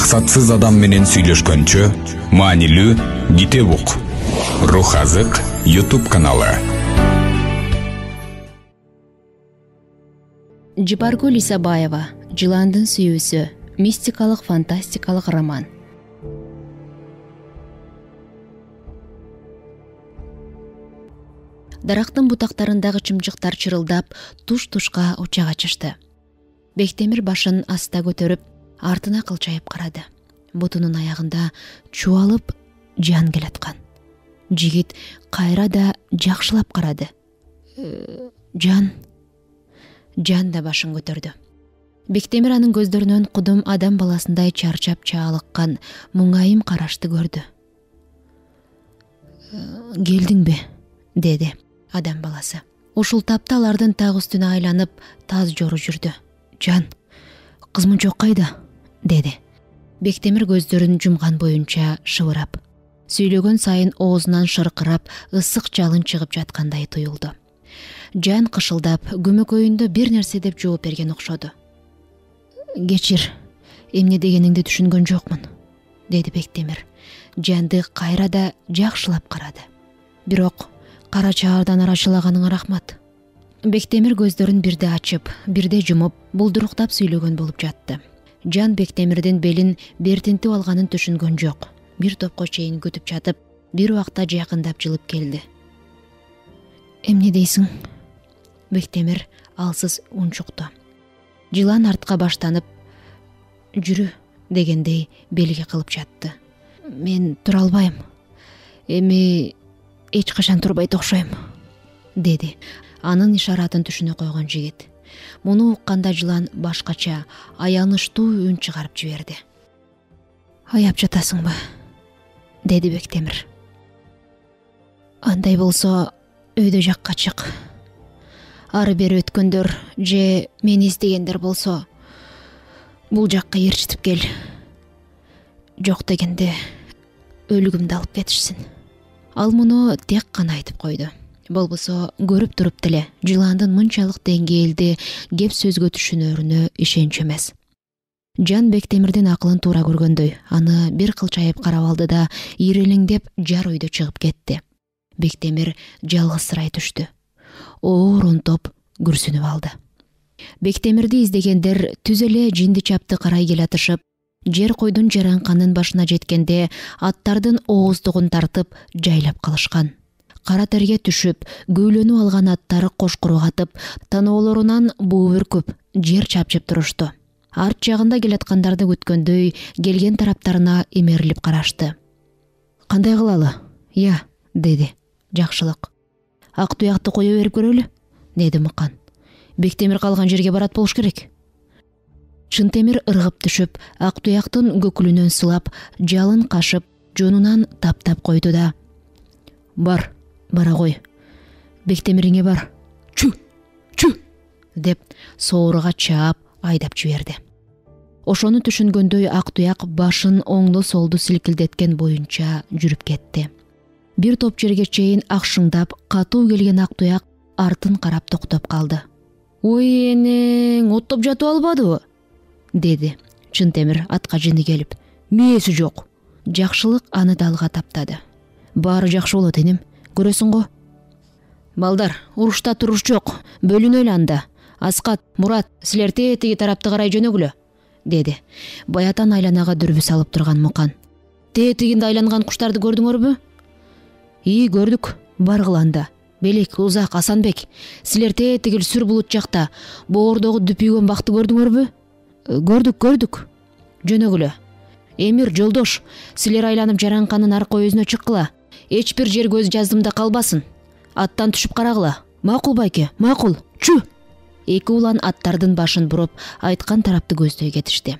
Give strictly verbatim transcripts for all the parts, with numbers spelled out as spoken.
максатсыз адам менен сүйлөшкөнчө маанилүү китеп ук. Рух азык YouTube каналы. Жипаргүл Исабаева «Жыландын сүйүүсү» мистикалык фантастикалык роман. Дарактын бутактарындагы чымчыктар чырылдап, туш-тушка уча качышты. Бектемир башын аста көтөрүп, артына кылчайып карады. Бутунун аягында чубалып жан келаткан. Жигит кайра да жакшылап карады. Жан Жан да башын көтөрдү. Бектемир анын көздөрүнөн кудум адам баласындай чарчап чаалыккан муңайым карашты көрдү. Келдиңби? Деди адам баласы. Ушул тапта алардын так үстүнө айланып таз жору жүрдү. Жан, кызмунчок кайда? Деди. Бектемир көздөрүн жумган боюнча шыбырап, сүйлөгөн сайын оозунан шыркырап, ысык жалын чыгып жаткандай туюлду. Жан кышылдап, көмөкөйүндө бир нерсе деп жооп берген окшоду. Кечир, эмне дегениңди түшүнгөн жокмун, деди Бектемир. Жанды кайра да жакшылап карады. Бирок кара чаардан арачылаганыңа рахмат. Бектемир көздөрүн бирде ачып, бирде жумуп, булдуруктап сүйлөгөн болуп жатты. Жан Бектемирдин белин бертинтип алганын түшүнгөн жок. Бир топко чейин күтүп жатып, бир убакта жакындап жылып келди. Эмне дейсиң? Бектемир алсыз унчукту. Жылан артка баштанып, жүрү дегендей белги кылып жатты. Мен тура албайм. Эми эч качан турбайт окшойм, деди. Анын ишаратын түшүнө койгон жигит. Муну укканда жылан башкача, аянычтуу үн чыгарып жиберди. Аяп жатасыңбы? Деди Бектемир. Андай болсо, өйдө жакка чык. Ары бери өткөндөр же мени издегендер болсо, бул жакка ээрчитип кел. Жок дегенде өлүгүмдү алып кетишсин. Ал муну тек гана айтып койду. Болбосо көрүп туруп деле жыландын мынчалык деңгээлде кеп сөзгө түшүнөрүнө ишенч эмес. Жан Бектемирдин акылын туура көргөндөй, аны бир кылчайып карап алды да ирелеңдеп жар өйдө чыгып кетти. Бектемир жалгызсырай түштү. Оор унтоп күрсүнүп алды. Бектемирди издегендер түз эле жинди чапты карай келатышып, жер койдун жаранканын башына жеткенде аттардын ооздугун тартып жайлап калышкан. Кара терге түшүп, күүлөнүп алган аттары кошкуру катып, таноолорунан буу бүркүп, жер чапчып турушту. Арт жагында келаткандарды күткөндөй, келген тараптарына эмерилип карашты. Кандай кылалы? Я, деди. Жакшылык. Ак туякты кое берип көрөлү, деди Мыкан. Бектемир калган жерге барат болуш керек. Чынтемир ыргып түшүп, ак туяктын көкүлүнөн сылап, жалын кашып, жонунан таптап койду да: Бар, бара кой. Бектемириңе бар. Чү, чү, деп сооруга чаап айдап жиберди. Ошону түшүнгөндөй ак туяк башын оңду-солду силкилдеткен боюнча жүрүп кетти. Бир топ жерге чейин акшыңдап, катуу келген ак туяк артын карап токтоп калды. Ой энең, оттоп жатып албадыбы? Деди Чынтемир атка жини келип. Мээси жок. Жакшылык аны далга таптады. Баары жакшы болот энем, көрөсүң го. Балдар, урушта туруш жок, бөлүнөлү анда. Аскат, Мурат, силер тетиги тарапты карай жөнөгүлө, деди. Баятан айланага дүрбү салып турган Мукан. Тетигинде айланган куштарды көрдүңөрбү? И, көрдүк. Баргыла анда. Белек, Узак, Асанбек, силер тетигил сүр булут жакта боордогу дүпүйгөн бакты көрдүңөрбү? Көрдүк, көрдүк. Жөнөгүлө. Эмир, Жолдош, силер айланып жаранканын аркы өзүнө чыккыла. Эч бир жер көз жаздымда калбасын. Аттан түшүп карагыла. Макул байке, макул. Чү. Эки улан аттардын башын буруп, айткан тарапты көздөй кетишти.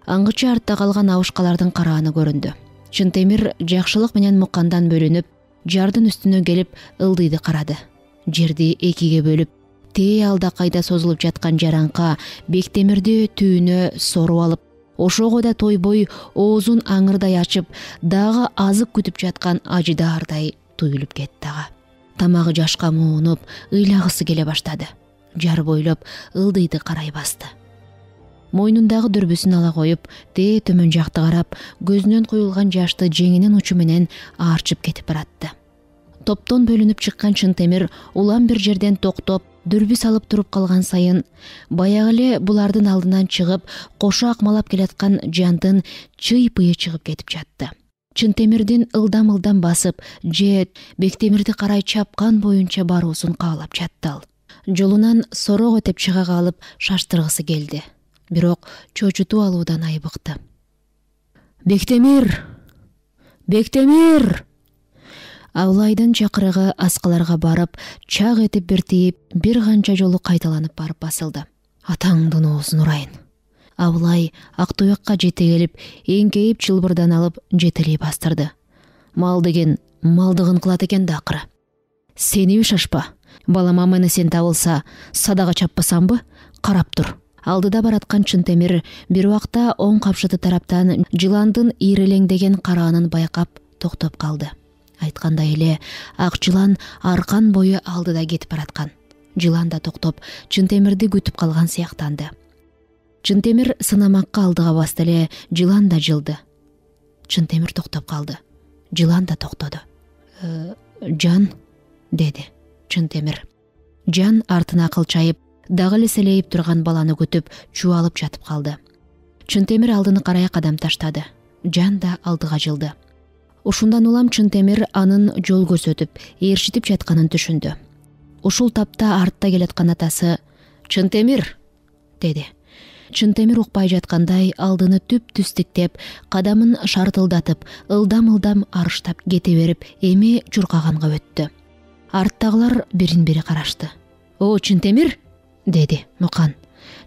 Аңгыча артта калган абышкалардын карааны көрүндү. Чынтемир Жакшылык менен Мукандан бөлүнүп, жардын үстүнө келип ылдыйды карады. Жерди экиге бөлүп, тээ алда кайда созулуп жаткан жаранка Бектемирди түйүнө соруп алып, ошого да тойбой оозун аңырдай ачып, дагы азык күтүп жаткан ажыдаардай туюлуп кетти ага. Тамагы жашка муунуп, ыйлагысы келе баштады. Жар бойлоп ылдыйды карай басты. мойнундагы дүрбүсүн ала коюп, дээ төмөн жакты карап, көзүнөн куюлган жашты жеңинин учу менен аарчып кетип баратты. Топтон бөлүнүп чыккан Чынтемир улам бир жерден токтоп, дүрбүс алып туруп калган сайын баягы эле булардын алдынан чыгып, кошо акмалап келаткан Жандын чый-пыйы чыгып кетип жатты. Чынтемирдин ылдам-ылдам басып, же Бектемирди карай чапкан боюнча баруусун каалап жатты ал. Жолунан сороо өтөп чыга калып шаштыргысы келди. Бирок чочутуп алуудан айбыкты. Бектемир! Бектемир! Абылайдын чакырыгы аскаларга барып, чак этип бир тийип, бир канча жолу кайталанып барып басылды. Атаңдын оозун урайын. Абылай ак туякка жете келип, эңкейип чылбырдан алып жетелей бастырды. Мал деген малдыгын кылат экен да акыры. Сениби шашпа. Балама мени сен табылса, садага чаппасамбы? Карап тур. Алдыда бараткан Чынтемир бир убакта оң капшыты тараптан жыландын ирелеңдеген караанын байкап токтоп калды. Айткандай эле ак жылан аркан бою алдыда кетип бараткан. Жылан да токтоп, Чынтемирди күтүп калган сыяктанды. Чынтемир сынамакка алдыга басты эле, жылан да жылды. Чынтемир токтоп калды. Жылан да токтоду. «Э, Жан, деди Чынтемир. Жан артына кылчайып, дагы эле селейип турган баланы күтүп, чубалып жатып калды. Чынтемир алдыны карай кадам таштады. Жан да алдыга жылды. Ушундан улам Чынтемир анын жол көрсөтүп, ээрчитип жатканын түшүндү. Ушул тапта артта келаткан атасы «Чынтемир!» деди. Чынтемир укпай жаткандай алдыны түп-түз тиктеп, кадамын шартылдатып, ылдам-ылдам арыштап кете берип, эми чуркаганга өттү. Арттагылар бирин-бири карашты. «О, Чынтемир!» деди Мукан.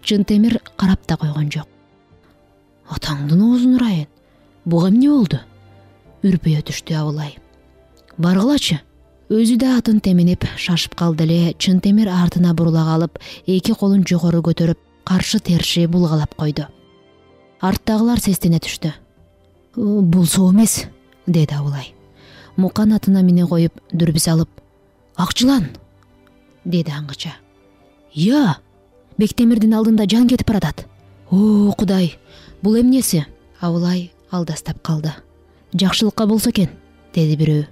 Чынтемир карап да койгон жок. «Атаңдын оозун урайын. Буга эмне болду?» Үрпөйө түштү Абылай. «Баргылачы!» Өзү да атын теминип шашып калды эле. Чынтемир артына бурула калып, эки колун жогору көтөрүп, каршы терши булгалап койду. Арттагылар сестене түштү. «Болсо эмес», деди Абылай. Мукан атына мине коюп, дүрбүс алып, «Ак жылан!» деди аңгыча. «Я! Бектемирдин алдында Жан кетип баратат. О, Кудай, бул эмнеси?» Абылай алдастап калды. «Жакшылыкка болсо экен», деди бирөө.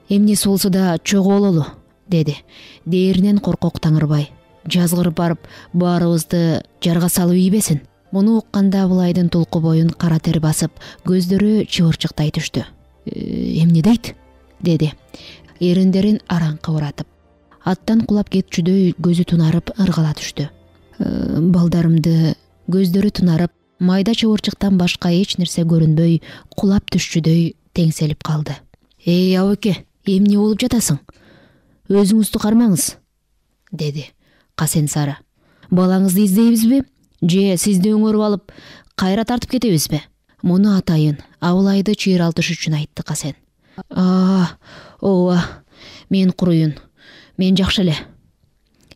«Эмнеси болсо да чогуу бололу», деди дээринен коркок Таңырбай. «Жазгырып барып, баарыбызды жарга салып ийбесин». Муну укканда Абылайдын тулку боюн кара тер басып, көздөрү чыбырчыктай түштү. «Эмне дейт?» деди, эриндерин араңкы уратып. Аттан кулап кетчүдөй көзү тунарып ыргала түштү. «Балдарымды...» Көздөрү тунарып, майда чыбырчыктан башка эч нерсе көрүнбөй, кулап түшчүдөй теңселип калды. «Эй, абыке, эмне болуп жатасың? Өзүңүздү кармаңыз», деди Касен сары. «Балаңызды издейбизби? Же сизди өңөрүп алып, кайра тартып кетебизби?» Муну атайын Абылайды чыйралтыш үчүн айтты Касен. «А, ооба, мен куруйун. Мен жакшы эле».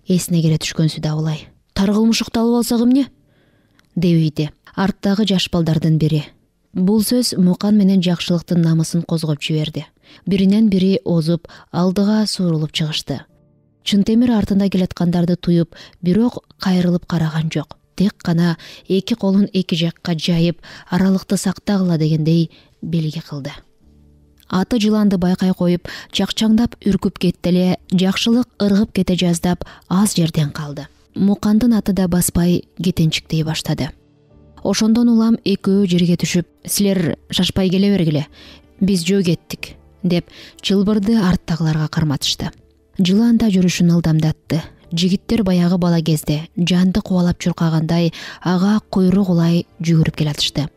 Эсине келе түшкөнсү да Абылай. «Таргылмыш укталып алсак эмне?» дебейди арттагы жаш балдардын бири. Бул сөз Мукан менен жакшылыктын намысын козгоп жиберди. Биринен бири озуп, алдыга суурулуп чыгышты. Чынтемир артында келаткандарды туюп, бирок кайрылып караган жок. Тек гана эки колун эки жакка жайып, аралыкты сактагыла дегендей белги кылды. Аты жыланды байкай коюп, чакчаңдап үркүп кетти эле, жакшылык ыргып кете жаздап аз жерден калды. Мукандын аты да баспай кетенчиктей баштады. Ошондон улам экөө жерге түшүп, «Силер шашпай келе бергиле, биз жөө кеттик», деп чылбырды арттагыларга карматышты. Жылан да жүрүшүн ылдамдатты. Жигиттер баягы бала кезде Жанды кубалап чуркагандай ага куйрук улай жүгүрүп келатышты.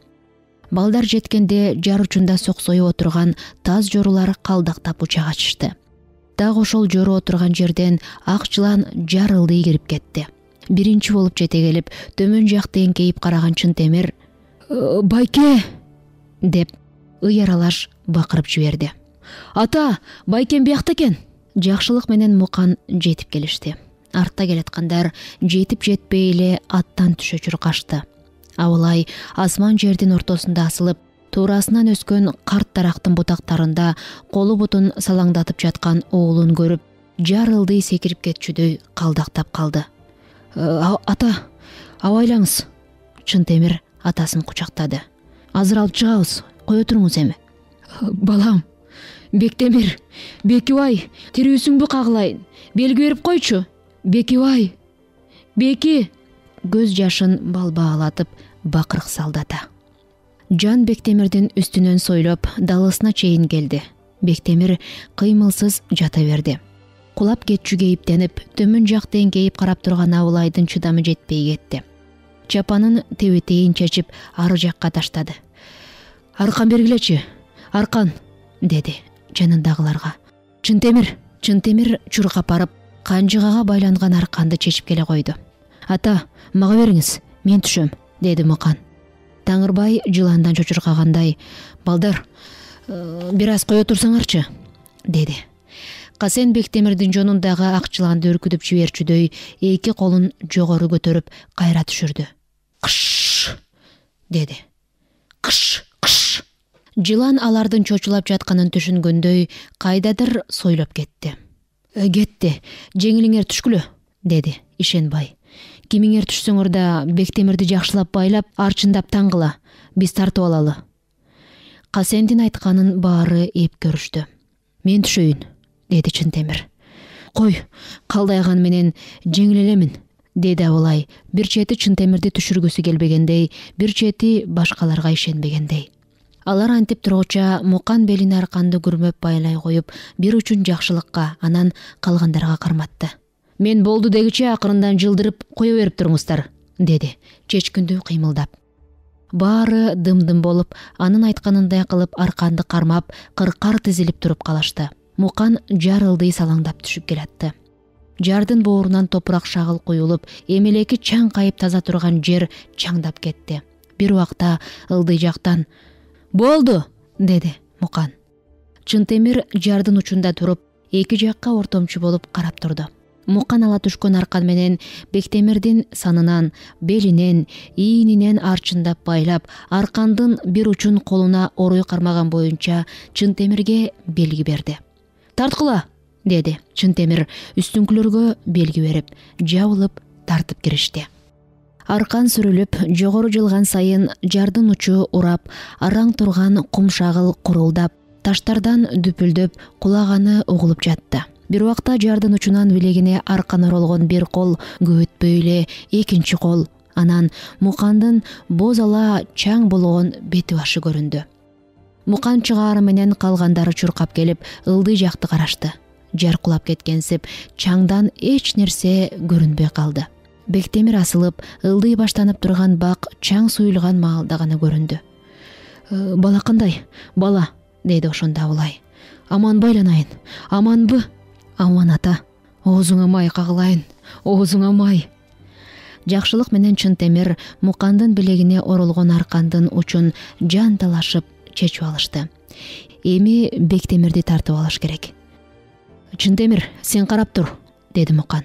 Балдар жеткенде жар учунда соксоюп отурган таз жорулар калдактап учак ачышты. Так ошол жору отурган жерден ак жылан жар ылдый кирип кетти. Биринчи болуп жете келип, төмөн жакты эңкейип караган Чынтемир «Байке!» деп ый аралаш бакырып жиберди. «Ата, байкем биякта экен!» Жакшылык менен Мукан жетип келишти. Артта келаткандар жетип жетпей эле аттан түшө чуркашты. Абылай асман жердин ортосунда асылып, туурасынан өскөн карт дарактын бутактарында колу бутун салаңдатып жаткан оолун көрүп, жар ылдый секирип кетчүдөй калдактап калды. «Ата, абайлаңыз, Чынтемир атасын кучактады. Азыр алып чыгабыз, кое туруңуз эми. Балам, Бектемир, Бекибай, тирүүсүңбү кагылайын? Белги берип койчу. Бекибай, Беки. Көз жашын балбаалатып бакырык салды ата. Жан Бектемирдин үстүнөн сойлоп далысына чейин келди. Бектемир кыймылсыз жата берди. Кулап кетчүгө эптенип, төмөн жакта эңкейип карап турган Абылайдын чыдамы жетпей кетти. Чапанын тебетейин чечип ары жакка таштады. Аркан бергилечи, аркан, деди жанындагыларга. Чынтемир, Чынтемир чуркап барып, канжыгага байланган арканды чечип келе койду. Ата, мага бериңиз, мен түшөм, деди Мукан. Таңырбай жыландан чочуркагандай, балдар, бир аз кое турсаңарчы, деди. Касен Бектемирдин жонундагы ак жыланды үркүтүп жиберчүдөй эки колун жогору көтөрүп кайра түшүрдү. Кыш, деди. Кыш, кыш. Жылан алардын чочулап жатканын түшүнгөндөй кайдадыр сойлоп кетти. Кетти, жеңилиңер түшкүлө, деди Ишенбай. Кимиңер түшсөңөр да Бектемирди жакшылап байлап, арчындап таңгыла, биз тартып алалы. Касендин айтканын баары эп көрүштү. Мен түшөйүн, деди Чынтемир. Кой, калдайган менен жеңил элемин, деди Абылай. Бир чети Чынтемирди түшүргүсү келбегендей, бир чети башкаларга ишенбегендей. Алар антип тургуча Мукан белине арканды күрмөп байлай коюп, бир учун жакшылыкка, анан калгандарга карматты. Мен болду дегиче акырындан жылдырып кое берип туруңуздар, деди, чечкиндүү кыймылдап. Баары дым-дым болуп, анын айтканындай кылып арканды кармап, кыркар тизилип туруп калышты. Мукан жар ылдый салаңдап түшүп келатты. Жардын боорунан топурак шагыл куюлуп, эмелеки чаң кайып таза турган жер чаңдап кетти. Бир убакта ылдый жактан «Болду!» деди Мукан. Чынтемир жардын учунда туруп, эки жакка ортомчу болуп карап турду. Мукан ала түшкөн аркан менен Бектемирдин санынан, белинен, ийининен арчындап байлап, аркандын бир учун колуна оруй кармаган боюнча Чынтемирге белги берди. «Тарткыла!» деди. Чынтемир үстүңкүлөргө белги берип, жабылып тартып киришти. Аркан сүрүлүп, жогору жылган сайын жардын учу урап, араң турган кум шагыл курулдап, таштардан дүпүлдөп кулаганы угулуп жатты. Бир убакта жардын учунан билегине аркан оролгон бир кол көбөтпөй эле экинчи кол, анан Мукандын боз ала чаң болгон бети башы көрүндү. Мукан чыгаары менен калгандары чуркап келип, ылдый жакты карашты. Жар кулап кеткенсип, чаңдан эч нерсе көрүнбөй калды. Бектемир асылып, ылдый баштанып турган бак чаң суюлган маалда гана көрүндү. «Бала кандай? Бала?» деди ошондо Абылай. «Аман байланайын. Аманбы?» «Аман ата. Оозуңа май кагылайын. Оозуңа май». Жакшылык менен Чынтемир Мукандын билегине оролгон аркандын учун жан талашып чечип алышты. Эми Бектемирди тартып алыш керек. «Чынтемир, сен карап тур», деди Мукан.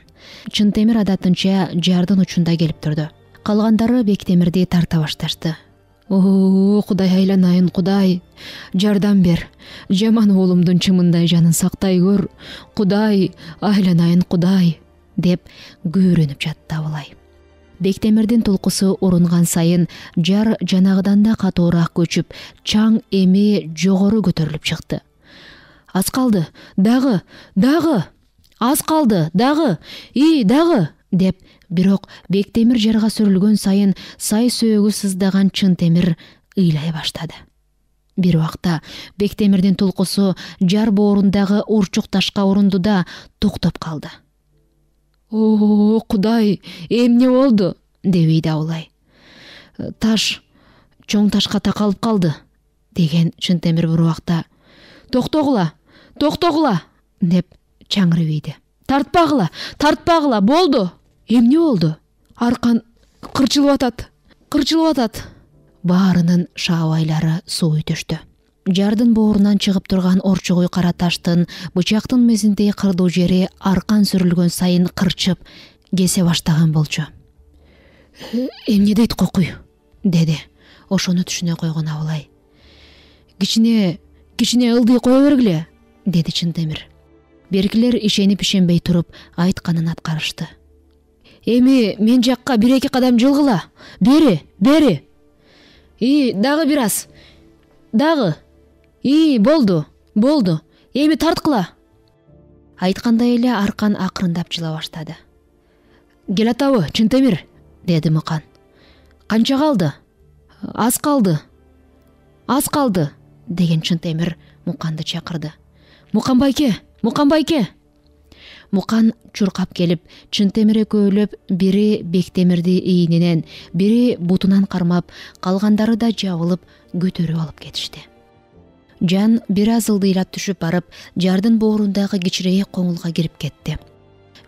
Чынтемир адатынча жардын учунда келип турду. Калгандары Бектемирди тарта башташты. «О, Кудай айланайын, Кудай, жардам бер. Жаман уулумдун чымындай жанын сактай көр. Кудай айланайын, Кудай», деп күбүрөнүп жатты Абылай. Бектемирдин тулкусу урунган сайын жар жанагыдан да катуураак көчүп, чаң эми жогору көтөрүлүп чыкты. «Аз калды, дагы, дагы, аз калды, дагы, и, дагы», деп бирок Бектемир жарга сүрүлгөн сайын сай сөөгү сыздаган Чынтемир ыйлай баштады. Бир убакта Бектемирдин тулкусу жар боорундагы урчук ташка урунду да токтоп калды. «О, Кудай, эмне болду?» дебейди Абылай. «Таш, чоң ташка такалып калды», деген Чынтемир бир убакта. «Токтогула, токтогула», деп чаңырыбейди. «Тартпагыла, тартпагыла, болду». «Эмне болду?» «Аркан кырчылып атат, кырчылып атат». Баарынын шаабайлары суу өтөштү. Жардын боорунан чыгып турган орчугуй кара таштын бычактын мезиндей кырдуу жери аркан сүрүлгөн сайын кырчып, кесе баштаган болчу. «Эмне дейт кокуй?» деди. Ошону түшүнө койгон Абылай. «Кичине, кичине ылдый кое бергиле», деди Чынтемир. Беркилер ишенип ишенбей туруп айтканын аткарышты. Эми мен жакка бир эки кадам жылгыла. Бери, бери. И дагы бир аз. Дагы. И болду, болду. Эми тарткыла. Айткандай эле Аркан акырындап жыла баштады. Келатабы, Чынтемир, деди Мукан. Канча калды? Аз калды. Аз калды, деген Чынтемир Муканды чакырды. Мукан байке, Мукан байке. Мукан чуркап келип, Чынтемир экөөлөп бири Бектемирди ийининен, бири бутунан кармап, калгандары да жабылып көтөрүп алып кетишти. Жан бир аз ылдыйлап түшүп барып, жардын боорундагы кичирээк коңулга кирип кетти.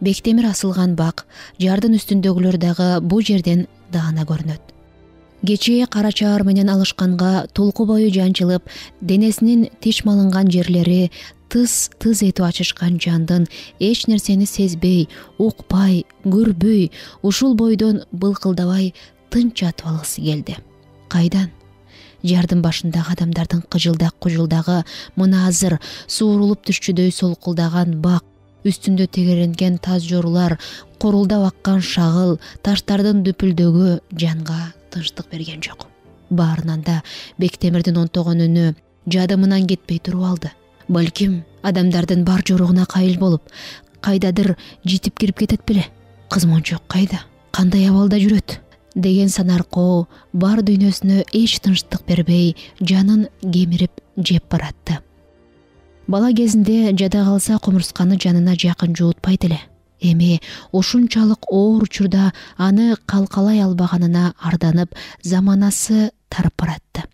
Бектемир асылган бак, жардын үстүндөгүлөр дагы бу жерден даана көрүнөт. Кечээ кара чаар менен алышканга толку бою жанчылып, денесинин тиш малынган жерлери тыз-тыз этип ачышкан жандын эч нерсени сезбей, укпай, көрбөй, ушул бойдон былкылдабай тынч жатып алгысы келди. Кайдан? Жардын башындагы адамдардын кыжылдак-кужулдагы мына азыр суурулуп түшчүдөй солкулдаган бак, үстүндө тегеренген таз жорулар, корулдап аккан шагыл, таштардын дүпүлдөгү жанга тынчтык берген жок. Баарынан да Бектемирдин онтогон үнү жадымынан кетпей туруп алды. Балким адамдардын бар жоругуна кайыл болуп, кайдадыр житип кирип кетет беле. Кызмончок кайда? Кандай абалда жүрөт? Деген санаркоо бар дүйнөсүнө эч тынчтык бербей, жанын кемирип жеп баратты. Бала кезинде жада калса кумурсканы жанына жакын жуутпайт эле. Эми ушунчалык оор учурда аны калкалай албаганына арданып, заманасы тарып баратты.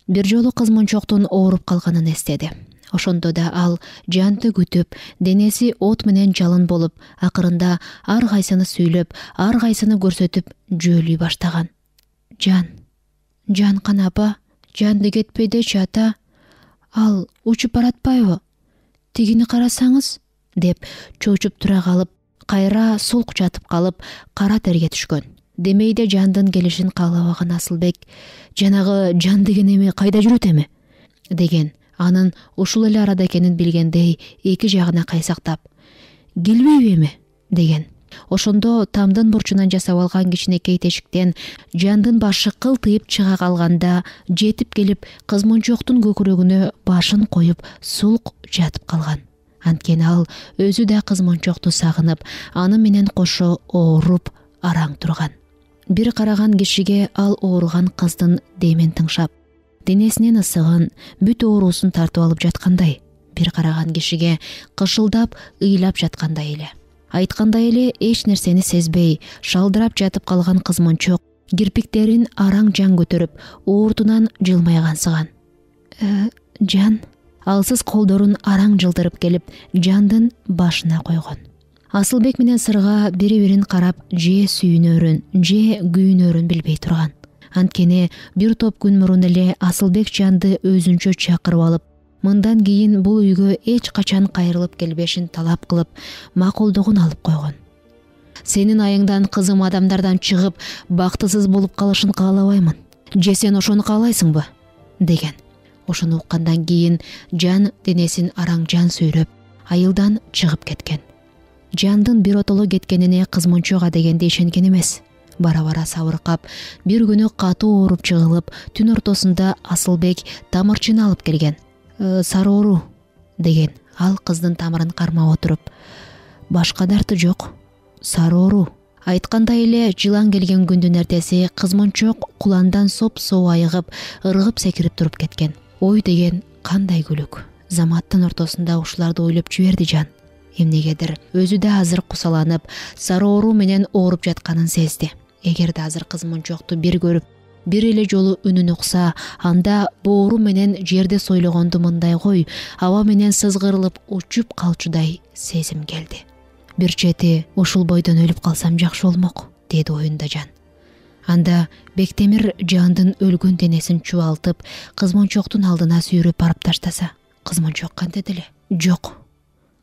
Бир жолу кызмончоктун ооруп калганын эстеди. Ошондо да ал жанды күтүп, денеси от менен жалын болуп, акырында ар кайсыны сүйлөп, ар кайсыны көрсөтүп жөөлүй баштаган. Жан, Жанкан апа, жанды кетпейдечи ата. Ал учуп баратпайбы? Тигини карасаңыз, деп чоочуп тура калып, кайра солк жатып калып, кара терге түшкөн. Демейде жандын келишин каалабаган Асылбек, жанагы жан деген эми кайда жүрөт эми? деген. Анын ушул эле арада экенин билгендей эки жагына кайсактап, келбейби эми? деген. Ошондо тамдын бурчунан жасап алган кичинекей тешиктен жандын башы кылтыйып чыга калганда жетип келип, кызмончоктун көкүрөгүнө башын коюп сулк жатып калган. Анткени ал өзү да кызмончокту сагынып, аны менен кошо ооруп араң турган. Бир караган кишиге ал ооруган кыздын демин тыңшап, денесинин ысыгын, бүт оорусун тартып алып жаткандай, бир караган кишиге кышылдап, ыйлап жаткандай эле. Айткандай эле эч нерсени сезбей, шалдырап жатып калган кызмончок кирпиктерин араң жан көтөрүп, оортунан жылмайгансыган. Э, жан, алсыз колдорун араң жылдырып келип, жандын башына койгон. Асылбек менен Сырга бири-бирин карап, же сүйүнөрүн, же күйүнөрүн билбей турган. Анткени бир топ күн мурун эле Асылбек жанды өзүнчө чакырып алып, мындан кийин бул үйгө эч качан кайрылып келбешин талап кылып, макулдугун алып койгон. Сенин айыңдан кызым адамдардан чыгып, бактысыз болуп калышын каалабаймын. Же сен ошону каалайсыңбы? деген. Ошону уккандан кийин жан денесин араң жан сүйрөп, айылдан чыгып кеткен. Жандын биротоло кеткенине кызмончога дегенде ишенген эмес. Бара-бара сабыркап, бир күнү катуу ооруп чыгылып, түн ортосунда Асылбек тамырчыны алып келген. Э, сары оору, деген. Ал кыздын тамырын кармап отуруп, башка дарты жок, сары оору. Айткандай эле жылан келген күндүн эртеси кызмончок куландан соп-соо айыгып, ыргып секирип туруп кеткен. Ой деген кандай күлүк. Заматтын ортосунда ушуларды ойлоп жиберди жан. Эмнегедир өзү да азыр кусаланып, сары оору менен ооруп жатканын сезди. Эгерде азыр кызмончокту бир көрүп, бир эле жолу үнүн укса, анда боору менен жерде сойлогонду мындай кой, аба менен сызгырылып учуп калчудай сезим келди. Бир чети ушул бойдон өлүп калсам жакшы болмок, деди оюнда жан. Анда Бектемир жандын өлгөн денесин чубалтып, кызмончоктун алдына сүйрөп барып таштаса, кызмончок кантет эле? Жок.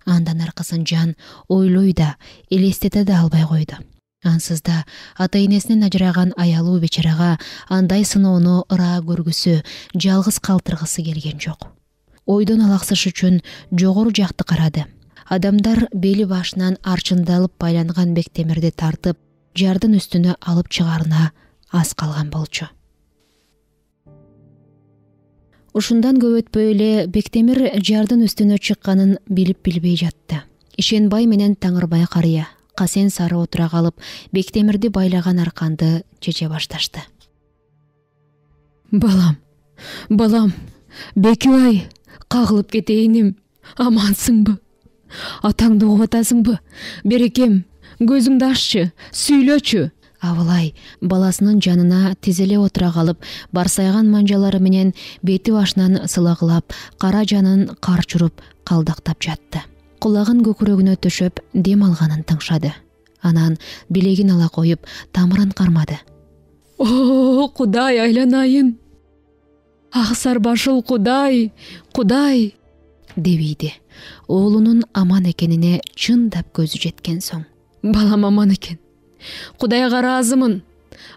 Андан аркасын жан ойлой да, элестете да албай койду. Ансыз да ата-энесинен ажыраган аялуу бечарага андай сыноону ыраа көргүсү, жалгыз калтыргысы келген жок. Ойдон алаксыш үчүн жогору жакты карады. Адамдар бели башынан арчындалып байланган Бектемирди тартып, жардын үстүнө алып чыгаарына аз калган болчу. Ушундан көп өтпөй эле Бектемир жардын үстүнө чыкканын билип билбей жатты. Ишенбай менен Таңырбай карыя Касен сары отура калып, Бектемирди байлаган арканды чече башташты. Балам, балам, Бекибай, кагылып кетейиним, амансыңбы? Атаңды угуп атасыңбы? Берекем, көзүңдү аччы, сүйлөчү. Абылай баласынын жанына тизеле отура калып, барсайган манжалары менен бети башынан сылагылап, кара жанын карчуруп, калдактап жатты. Кулагын көкүрөгүнө төшөп, дем алганын тыңшады. Анан билегин ала коюп, тамырын кармады. О, Кудай айланайын! Аксар башыл Кудай, Кудай! Дебийди. Оолунун аман экенине чындап көзү жеткен соң. Балам аман экен. Кудайга ыраазымын.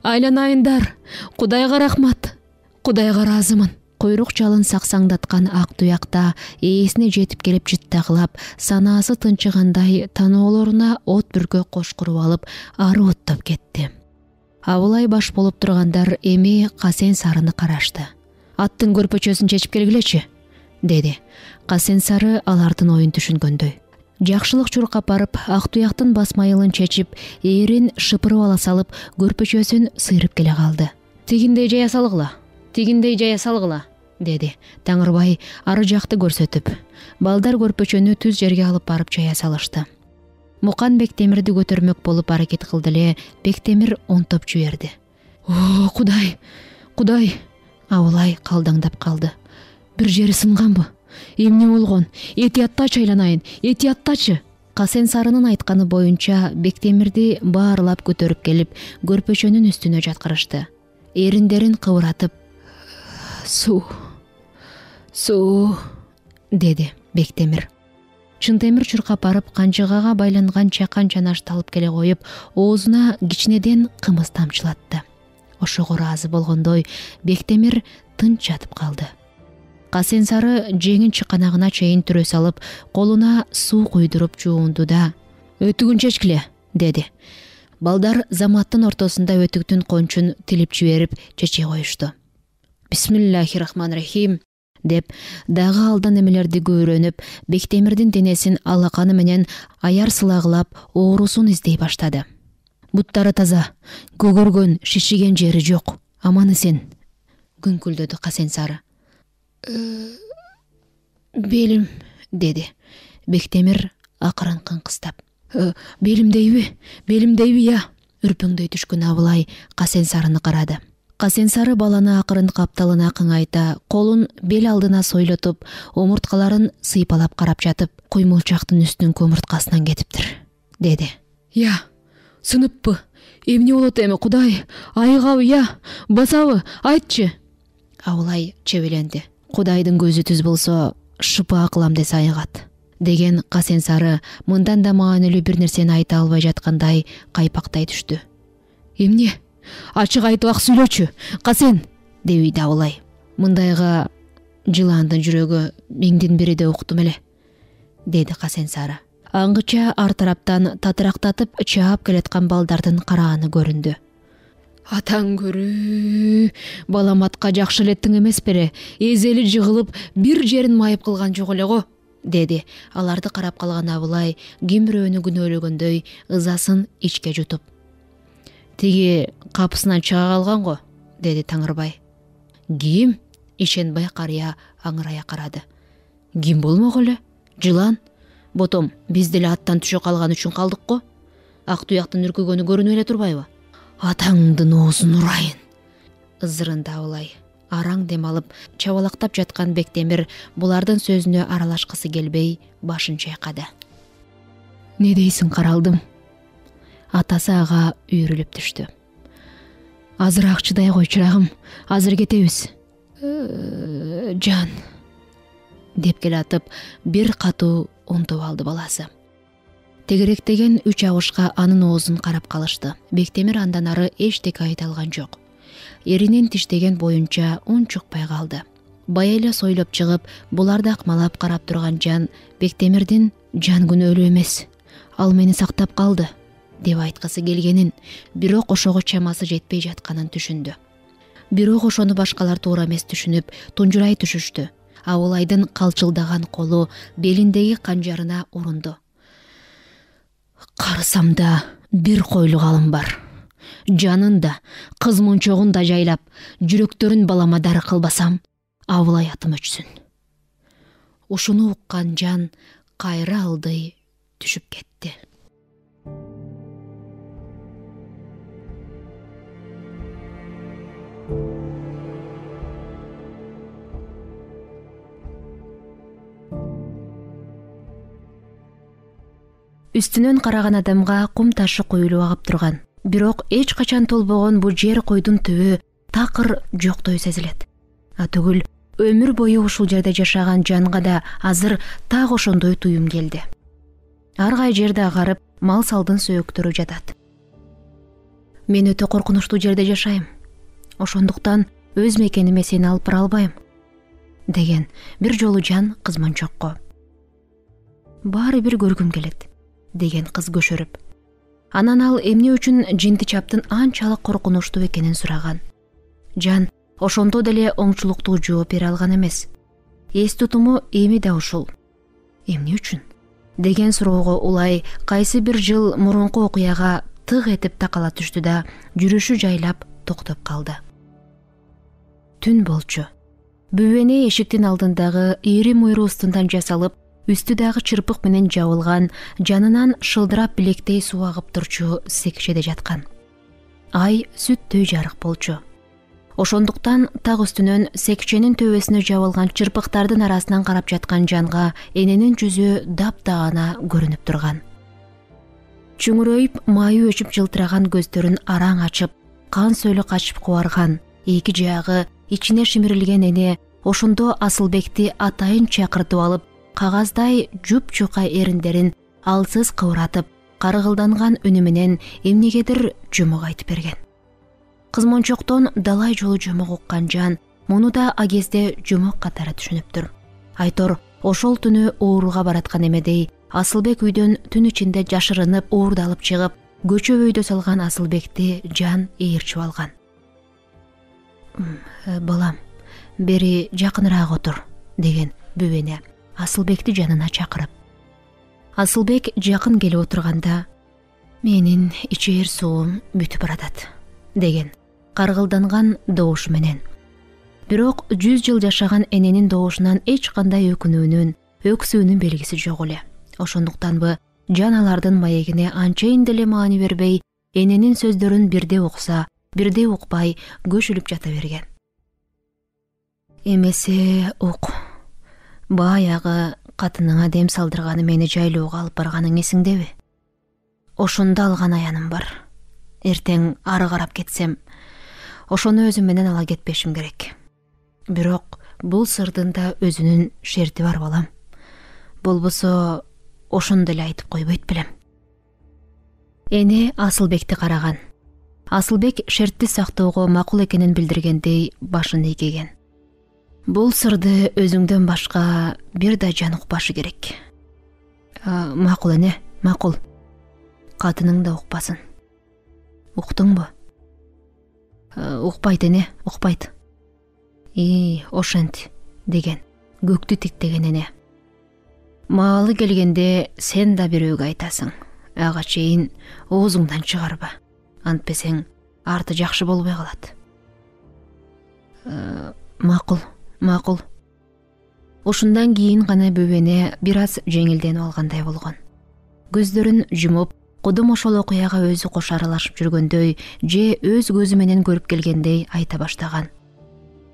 Айланайындар. Кудайга рахмат. Кудайга ыраазымын. Койрук жалын саксаңдаткан ак туякта ээсине жетип келип жыттагылап, санаасы тынчыгандай таноолоруна от бүркө кошкуруп алып, ары оттоп кетти. Абылай баш болуп тургандар эми Касен сарыны карашты. Аттын көрпөчөсүн чечип келгилечи, деди. Касен сары алардын оюн түшүнгөндөй. Жакшылык чуркап барып, ак туяктын басмайылын чечип, ээрин шыпырып ала салып, көрпөчөсүн сыйрып келе калды. Тигиндей жая салгыла, тигиндей жая салгыла, деди. Таңырбай ары жакты көрсөтүп, балдар көрпөчөнү түз жерге алып барып жая салышты. Мукан Бектемирди көтөрмөк болуп аракет кылды эле, Бектемир онтоп жиберди. О, Кудай, Кудай! Абылай калдаңдап калды. Бир жери сынганбы? Эмне болгон? Этияттачы айланайын, этияттачы. Касен сарынын айтканы боюнча Бектемирди баарлап көтөрүп келип, көрпөчөнүн үстүнө жаткырышты. Эриндерин кыбыратып, суу, суу, деди Бектемир. Чынтемир чуркап барып, канчыгага байланган чакан чанашты алып келе коюп, оозуна кичинеден кымыз тамчылатты. Ошого ыраазы болгондой, Бектемир тынч жатып калды. Касен сары жеңин чыканагына чейин түрө салып, колуна суу куйдуруп жуунду да, өтүгүн чечкиле, деди. Балдар заматтын ортосунда өтүктүн кончун тилип жиберип чече коюшту. Бисмиллахир-рахманир-рахим, деп дагы алдан эмелерди көөрөнүп, Бектемирдин денесин алаканы менен аяр сылагылап, оорусун издей баштады. Буттары таза, көгөргөн, шишиген жери жок, аман эсен, күңкүлдөдү Касен сары. Белим, деди Бектемир акырын кыңкыстап. Белимдейби, белимдейби я? Үрпөңдөй түшкөн Абылай Касен сарыны карады. Касен сары баланы акырын капталына кыңайта, колун бел алдына сойлотуп, омурткаларын сыйпалап карап жатып, куймулчактын үстүнүн көмүрткасынан кетиптир, деди. Я, сыныппы? Эмне болот эми, Кудай? Айыгабы я? Басабы? Айтчы. Абылай чебеленди. Кудайдын көзү түз болсо, шыпа кылам десе айыгат, деген Касен сары мындан да маанилүү бир нерсени айта албай жаткандай кайпактай түштү. Эмне? Ачык айтып ак сүйлөчү, Касен, дебийди Абылай. Мындайга жыландын жүрөгү миңдин бириде уктум эле, деди Касен сары. Аңгыча ар тараптан татырактатып чаап келаткан балдардын карааны көрүндү. Атаң көрүү, балам атка жакшы элеттиң эмес бере, эзели жыгылып, бир жерин майып кылган жок эле го, деди. Аларды карап калган Абылай ким бирөөнү күнөөлөгөндөй ызасын ичке жутуп. Тиги капысынан чыга калган го, деди Таңырбай. Ким? Ишенбай карыя аңырая карады. Ким болмок эле? Жылан? Ботом, биз деле аттан түшө калган үчүн калдык го. Ак туяктын үркүгөнү көрүнүп эле турбайбы? Атаңдын оозун урайын, ызырынды Абылай. Араң дем алып, чабалактап жаткан Бектемир булардын сөзүнө аралашкысы келбей, башын чайкады. Не дейсиң, каралдым? Атасы ага үйрүлүп түштү. Азыраак чыдай кой, чырагым, азыр кетебиз. Жан, деп келатып, бир катуу унтуп алды баласы. Тегеректеген үч агышка анын оозун карап калышты. Бектемир андан ары эчтеке айта алган жок. Эринин тиштеген боюнча ун чукпай калды. Бая эле сойлоп чыгып, буларды акмалап карап турган Жан Бектемирдин жан күнөөлүү эмес. Ал мени сактап калды, деп айткысы келгенин, бирок ошого чамасы жетпей жатканын түшүндү. Бирок ошону башкалар туура эмес түшүнүп, тунжурай түшүштү. Абылайдын калчылдаган колу белиндеги канжарына урунду. Карасам да бир койлук алым бар. Жанын да, кыз мончогун да жайлап, жүрөктөрүн баламадар кылбасам, Абылай атым өчсүн. Ушуну уккан Жан кайра алдай түшүп кетти. Үстүнөн караган адамга кум ташы коюлуп агып турган. Бирок эч качан толбогон бул жер койдун түбү такыр жоктой сезилет. А түгүл, өмүр бою ушул жерде жашаган Жанга да азыр так ошондой туюм келди. Ар кай жерде агарып, мал салдын сөөктөрү жатат. Мен өтө коркунучтуу жерде жашайм. Ошондуктан өз мекениме сени алып бара албайм, деген бир жолу Жан кыз мончокко. Баары бир көргүм келет, деген кыз көшөрүп. Анан ал эмне үчүн жинти чаптын анчалык коркунучтуу экенин сураган. Жан ошондо деле оңчулуктуу жооп бере алган эмес. Эс тутуму эми да ушул. Эмне үчүн? Деген суроого улай кайсы бир жыл мурунку окуяга тык этип такала түштү да жүрүшү жайлап токтоп калды. Түн болчу. Бүбөне эшиктин алдындагы ийри муйру устундан жасалып, үстү дагы чырпык менен жабылган, жанынан шылдырап билектей суу агып турчу секчеде жаткан. Ай сүттөй жарык болчу. Ошондуктан так үстүнөн секченин төбөсүнө жабылган чырпыктардын арасынан карап жаткан Жанга эненин жүзү дапдагана көрүнүп турган. Чүңүрөйүп, майы өчүп жылтыраган көздөрүн араң ачып, кан сөөлү качып кубарган, эки жагы ичине шимирилген эне ошондо Асылбекти атайын чакыртып алып, кагаздай жуп-жука эриндерин алсыз кыбыратып, каргылданган үнү менен эмнегедир жомок айтып берген. Кыз мончоктон далай жолу жомок уккан Жан муну да агезде жомок катары түшүнүптүр. Айтор ошол түнү ооруга бараткан эмедей Асылбек үйдөн түн ичинде жашырынып уурдалып чыгып, көчөп өйдө салган Асылбекти Жан ээрчип алган. «Балам, бери жакыныраак отур», деген бүбөне Асылбекти жанына чакырып. Асылбек жакын келип отурганда, «Менин ичээр суум бүтүп баратат», деген каргылданган добушу менен. Бирок жүз жыл жашаган эненин добушунан эч кандай өкүнүүнүн, өксүүнүн белгиси жок эле. Ошондуктанбы Жан алардын маегине анчайын деле маани бербей, эненин сөздөрүн бирде укса, бирде укпай көшүлүп жата берген. «Эмесе ук. Баягы катыныңа дем салдырганы мени жайлоого алып барганың эсиңдеби? Ошондо алган аяным бар. Эртең ары карап кетсем, ошону өзүм менен ала кетпешим керек. Бирок бул сырдын да өзүнүн шерти бар, балам. Болбосо ошону деле айтып койбойт белем». Эне Асылбекти караган. Асылбек шертти сактоого макул экенин билдиргендей башын ийгеген. «Бул сырды өзүңдөн башка бир да жан укпашы керек». «Макул эне, макул. Катының да укпасын». «Уктуңбу?» «Укпайт эне, укпайт». «И, ошент», деген көктү тиктеген эне. «Маалы келгенде сен да бирөөгө айтасың. Ага чейин оозуңдан чыгарба. Антпесең арты жакшы болбой калат». «Макул, макул». Ушундан кийин гана бүбөне бир аз жеңилденип алгандай болгон. Көздөрүн жумуп, кудум ошол окуяга өзү кош аралашып жүргөндөй же өз көзү менен көрүп келгендей айта баштаган.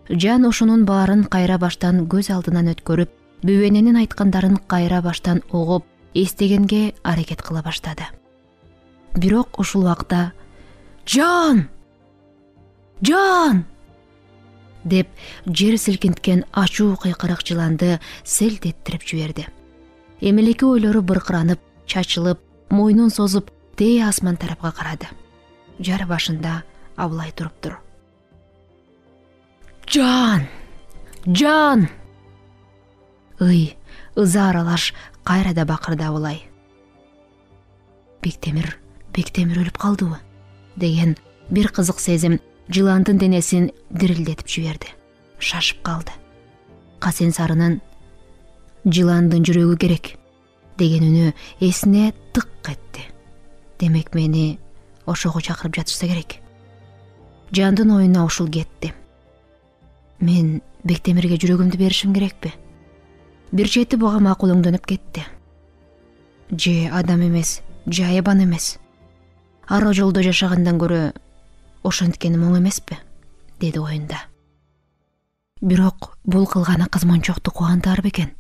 Жан ушунун баарын кайра баштан көз алдынан өткөрүп, бүбөненин айткандарын кайра баштан угуп, эстегенге аракет кыла баштады. Бирок ушул убакта «Жан! Жан!» деп жер силкинткен ачуу кыйкырык жыланды селт эттирип жиберди. Эмелеки ойлору быркыранып, чачылып, мойнун созуп, тээ асман тарапка карады. Жар башында Абылай туруптур. «Жан! Жан!» Ый, ыза аралаш кайра да бакырды Абылай. «Бектемир, Бектемир өлүп калдыбы деген бир кызык сезим жыландын денесин дирилдетип жиберди. Шашып калды. Касен сарынын жыландын жүрөгү керек деген үнү эсине тык этти. Демек мени ошого чакырып жатышса керек. Жандын оюна ушул кетти. Мен Бектемирге жүрөгүмдү беришим керекпи? Бир чети буга макулөңдөнүп кетти. Же адам эмес, же айбан эмес. Ара жолдо жашагандан көрө ошенткени оң эмеспи? Деди оюнда. Бирок бул кылганы кызманчокту кубантаар бекен?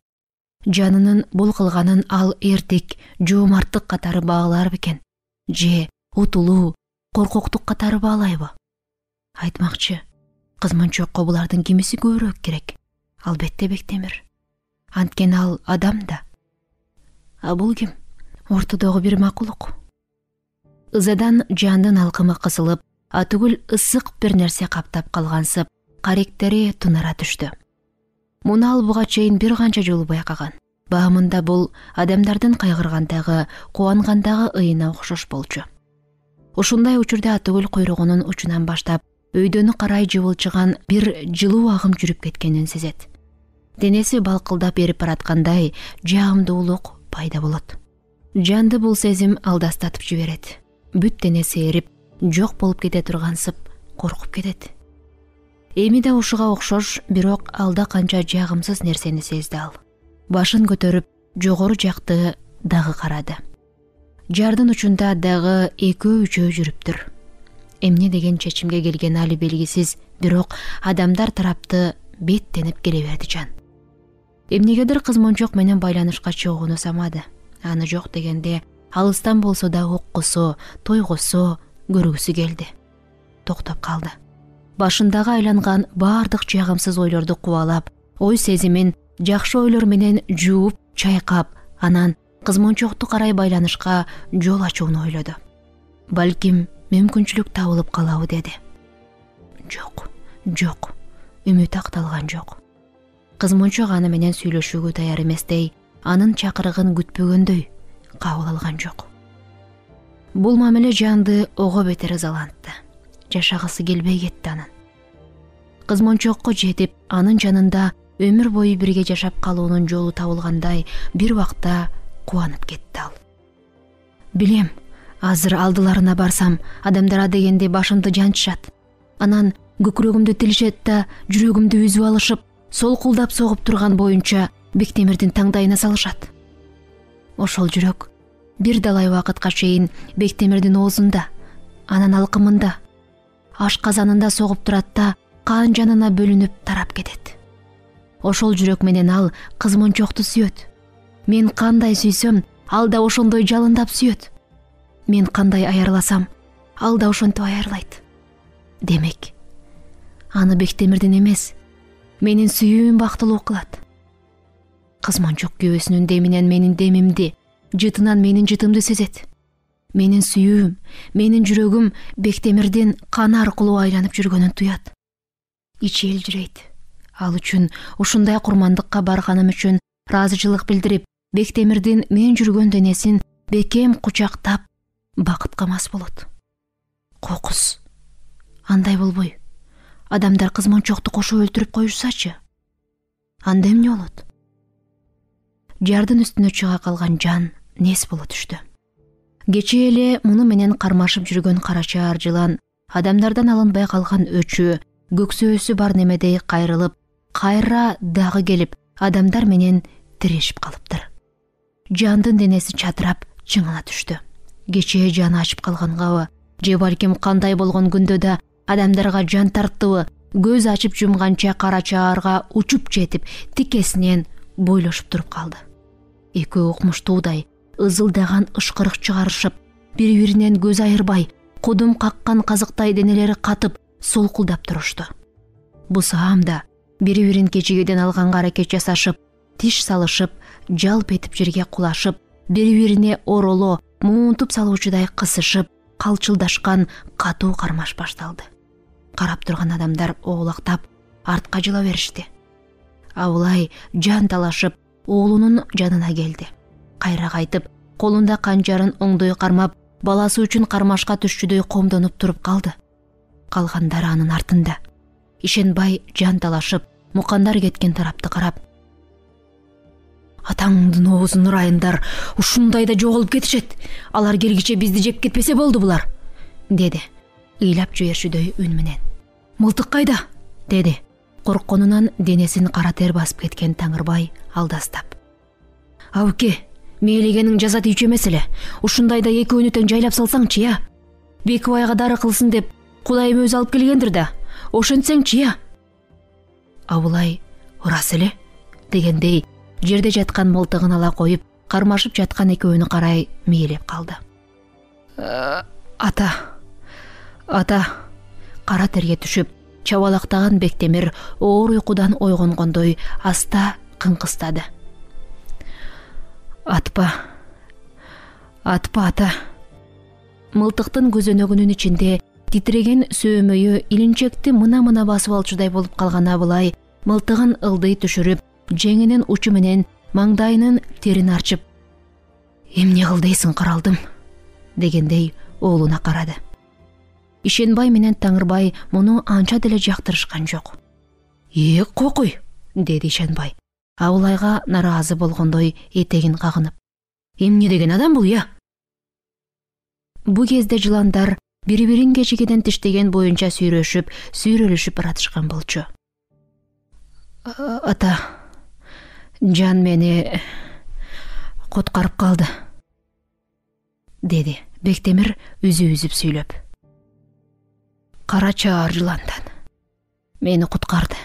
Жанынын бул кылганын ал эртик, жоомарттык катары баалаар бекен? Же утулуу, коркоктук катары баалайбы? Айтмакчы, кызманчокко булардын кимиси көбүрөөк керек? Албетте Бектемир. Анткени ал адам да. А бул ким? Ортодогу бир макулук. Ызадан жандын алкымы кысылып, атүгүл ысык бир нерсе каптап калгансып, каректери тунара түштү. Муну ал буга чейин бир канча жолу байкаган. Баамында бул адамдардын кайгыргандагы, кубангандагы ыйына окшош болчу. Ушундай учурда атүгүл куйругунун учунан баштап өйдөнү карай жыбылчыган бир жылуу агым жүрүп кеткенин сезет. Денеси балкылдап эрип бараткандай жагымдуулук пайда болот. Жанды бул сезим алдастатып жиберет. Бүт денеси эрип, жок болуп кете тургансып, коркуп кетет. Эми да ушуга окшош, бирок алда канча жагымсыз нерсени сезди ал. Башын көтөрүп, жогору жакты дагы карады. Жардын учунда дагы экөө-үчөө жүрүптүр. Эмне деген чечимге келген али белгисиз, бирок адамдар тарапты беттенип келе берди жан. Эмнегедир кызманчок менен байланышка чыгууну самады. Аны жок дегенде алыстан болсо да уккусу, тойгусу, көргүсү келди. Токтоп калды. Башындагы айланган баардык жагымсыз ойлорду кубалап, ой сезимин жакшы ойлор менен жууп, чайкап, анан кызманчокту карай байланышка жол ачууну ойлоду. Балким мүмкүнчүлүк табылып калабы деди. Жок, жок, үмүт акталган жок. Кызманчок аны менен сүйлөшүүгө даяр эместей, анын чакырыгын күтпөгөндөй кабыл алган жок. Бул мамиле жанды ого бетер ызалантты. Жашагысы келбей кетти анын. Кызманчокко жетип, анын жанында өмүр бою бирге жашап калуунун жолу табылгандай бир убакта кубанып кетти ал. Билем, азыр алдыларына барсам, адамдар дегенде башымды жанчышат. Анан көкүрөгүмдү тилишет да, жүрөгүмдү үзүп алышып, солкулдап согуп турган боюнча Бектемирдин таңдайына салышат. Ошол жүрөк бир далай убакытка чейин Бектемирдин оозунда, анан алкымында, ашказанында согуп турат да, кан жанына бөлүнүп тарап кетет. Ошол жүрөк менен ал кызманчокту сүйөт. Мен кандай сүйсөм, ал да ошондой жалындап сүйөт. Мен кандай аярласам, ал да ошентип аярлайт. Демек, аны Бектемирдин эмес, менин сүйүүм бактылуу кылат. Кызманчок күйөөсүнүн деминен менин демимди, жытынан менин жытымды сезет. Менин сүйүүм, менин жүрөгүм Бектемирдин каны аркылуу айланып жүргөнүн туят. Ичи элжирейт. Ал үчүн ушундай курмандыкка барганым үчүн ыраазычылык билдирип, Бектемирдин мен жүргөн денесин бекем кучактап, бакытка мас болот. Кокус. Андай болбой. Адамдар кызманчокту кошо өлтүрүп коюшсачы. Анда эмне болот? Жардын үстүнө чыга калган жан нес боло түштү. Кечээ эле муну менен кармашып жүргөн карачаар жылан адамдардан алынбай калган өчү, көксөөсү бар немедей кайрылып, кайра дагы келип, адамдар менен тирешип калыптыр. Жандын денеси чатырап, чыңала түштү. Кечээ жаны ачып калгангабы, же балким кандай болгон күндө да адамдарга жан тарттыбы, көз ачып жумганча карачаарга учуп жетип, тикесинен бойлошуп туруп калды. Экөө укмуштуудай ызылдаган ышкырык чыгарышып, бири-биринен көз айырбай, кудум каккан казыктай денелери катып, солкулдап турушту. Бусаамда бири-бирин кечигеден алганга аракет жасашып, тиш салышып, жалп этип жерге кулашып, бири-бирине ороло, муунтуп салуучудай кысышып, калчылдашкан катуу кармаш башталды. Карап турган адамдар оолактап, артка жыла беришти. Абылай жан талашып, оолунун жанына келди. Кайра кайтып, колунда канжарын оңдой кармап, баласы үчүн кармашка түшчүдөй комдонуп туруп калды. Калгандары анын артында. Ишенбай жан талашып, мукандар кеткен тарапты карап: "Атаңдын оозун ырайындар, ушундайда жоголуп кетишет. Алар келгиче бизди жеп кетпесе болду булар", деди ыйлап жиберчүдөй үн менен. "Мылтык кайда?" деди коркконунан денесин кара тер басып кеткен Таңырбай алдастап. "Абыке, мээлегениң жаза тийчү эмес эле. Ушундайда экөөнү тең жайлап салсаңчы я. Бекибайга дары кылсын деп Кудайым өзү алып келгендир да. Ошентсеңчи я." Абылай "Ырас эле" дегендей жерде жаткан мылтыгын ала коюп, кармашып жаткан экөөнү карай мээлеп калды. "Ата, ата" кара терге түшүп, чабалактаган Бектемир оор уйкудан ойгонгондой аста кыңкыстады. "Атпа, атпа ата." Мылтыктын көзөнөгүнүн ичинде титиреген сөөмөйү илинчекти мына-мына басып алчудай болуп калган Абылай мылтыгын ылдый түшүрүп, жеңинин учу менен маңдайынын терин арчып: "Эмне кыл дейсиң, каралдым?" дегендей уулуна карады. Ишенбай менен Таңырбай муну анча деле жактырышкан жок. "Э, кокуй", деди Ишенбай, Абылайга нараазы болгондой этегин кагынып. "Эмне деген адам бул я?" Бу кезде жыландар бири-бирин кечигиден тиштеген боюнча сүйрөшүп, сүйрөлүшүп баратышкан болчу. "Ата, жан мени куткарып калды", деди Бектемир үзү-үзүп сүйлөп. "Кара чаар жыландан мени куткарды."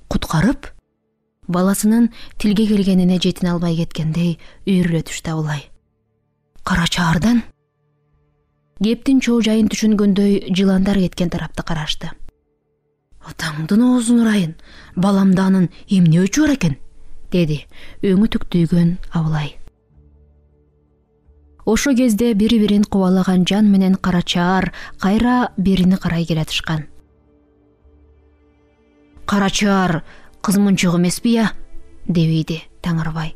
"Куткарып?" Баласынын тилге келгенине жетине албай кеткендей үйрүлө түштү Абылай. "Кара чаардан?" Кептин чоо жайын түшүнгөндөй жыландар кеткен тарапты карашты. "Атаңдын оозун ырайын, баламда анын эмне өчү бар экен?" деди өңү түктүйгөн Абылай. Ошо кезде бири-бирин кубалаган жан менен кара чаар кайра берини карай келатышкан. "Кара чаар кызмынчык эмеспи я?" дебейди Таңырбай.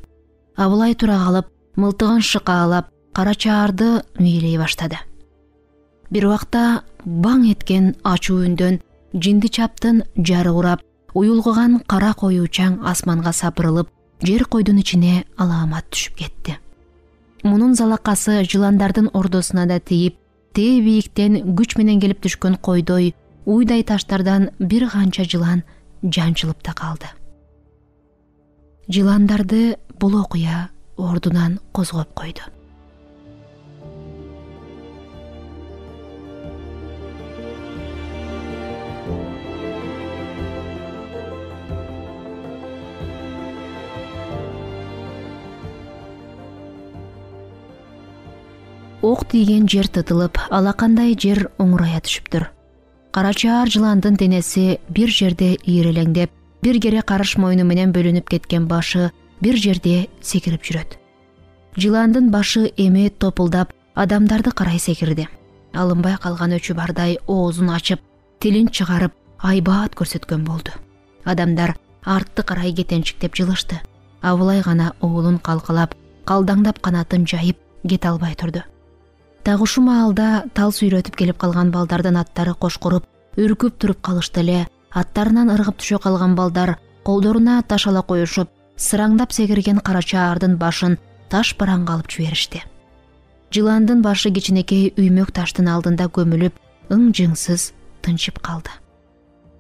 Абылай тура калып, мылтыгын шыкаалап, кара чаарды мээлей баштады. Бир убакта баң эткен ачуу үндөн жинди чаптын жары урап, уюлгуган кара коюучаң асманга сапырылып, жер койдун ичине алаамат түшүп кетти. Мунун залакасы жыландардын ордосуна да тийип, тээ бийиктен күч менен келип түшкөн койдой уйдай таштардан бир канча жылан жанчылып да калды. Жыландарды бул окуя ордунан козгоп койду. Ок тийген жер тытылып, алакандай жер оңурая түшүптүр. Кара чаар жыландын денеси бир жерде ийрелеңдеп, бир кере карыш мойну менен бөлүнүп кеткен башы бир жерде секирип жүрөт. Жыландын башы эме топулдап адамдарды карай секирди. Алынбай калган өчү бардай оозун ачып, тилин чыгарып, айбаат көрсөткөн болду. Адамдар артты карай кетенчиктеп жылышты. Абылай гана уулун калкалап, калдаңдап канатын жайып кете албай турду. Так ушу маалда тал сүйрөтүп келип калган балдардын аттары кошкуруп, үркүп туруп калышты эле. Аттарынан ыргып түшө калган балдар колдоруна таш ала коюшуп, сыраңдап секирген кара чаардын башын таш бараңга алып жиберишти. Жыландын башы кичинекей үймөк таштын алдында көмүлүп, ың-жыңсыз тынчып калды.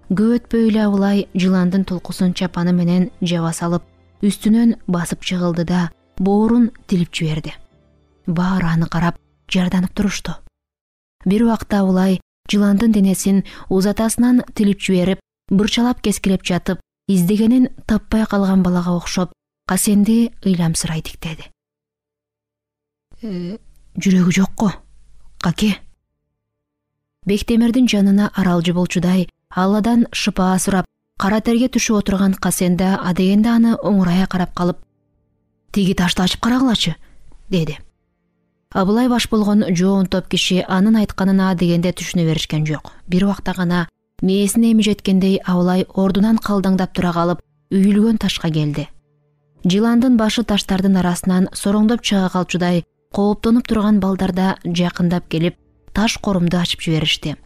Көп өтпөй эле Абылай жыландын тулкусун чапаны менен жаба салып, үстүнөн басып чыгылды да боорун тилип жиберди. Баары аны карап жарданып турушту. Бир убакта Абылай жыландын денесин узатасынан тилип жиберип, бырчалап кескилеп жатып, издегенин таппай калган балага окшоп, касенди ыйламсырай тиктеди. «Э, жүрөгү жокко, каке?» Бектемирдин жанына аралжы болчудай Алладан шыпаа сурап, кара терге түшүп отурган касенде адегенде аны оңурая карап калып, «Тиги ташты ачып карагылачы», деди. Абылай баш болгон жоон топ киши анын айтканына дегенде түшүнө беришкен жок. Бир убакта гана мээсине эми жеткендей Абылай ордунан калдаңдап тура калып, үйүлгөн ташка келди. Жыландын башы таштардын арасынан сороңдоп чыга калчудай кооптонуп турган балдар да жакындап келип таш корумду ачып жиберишти.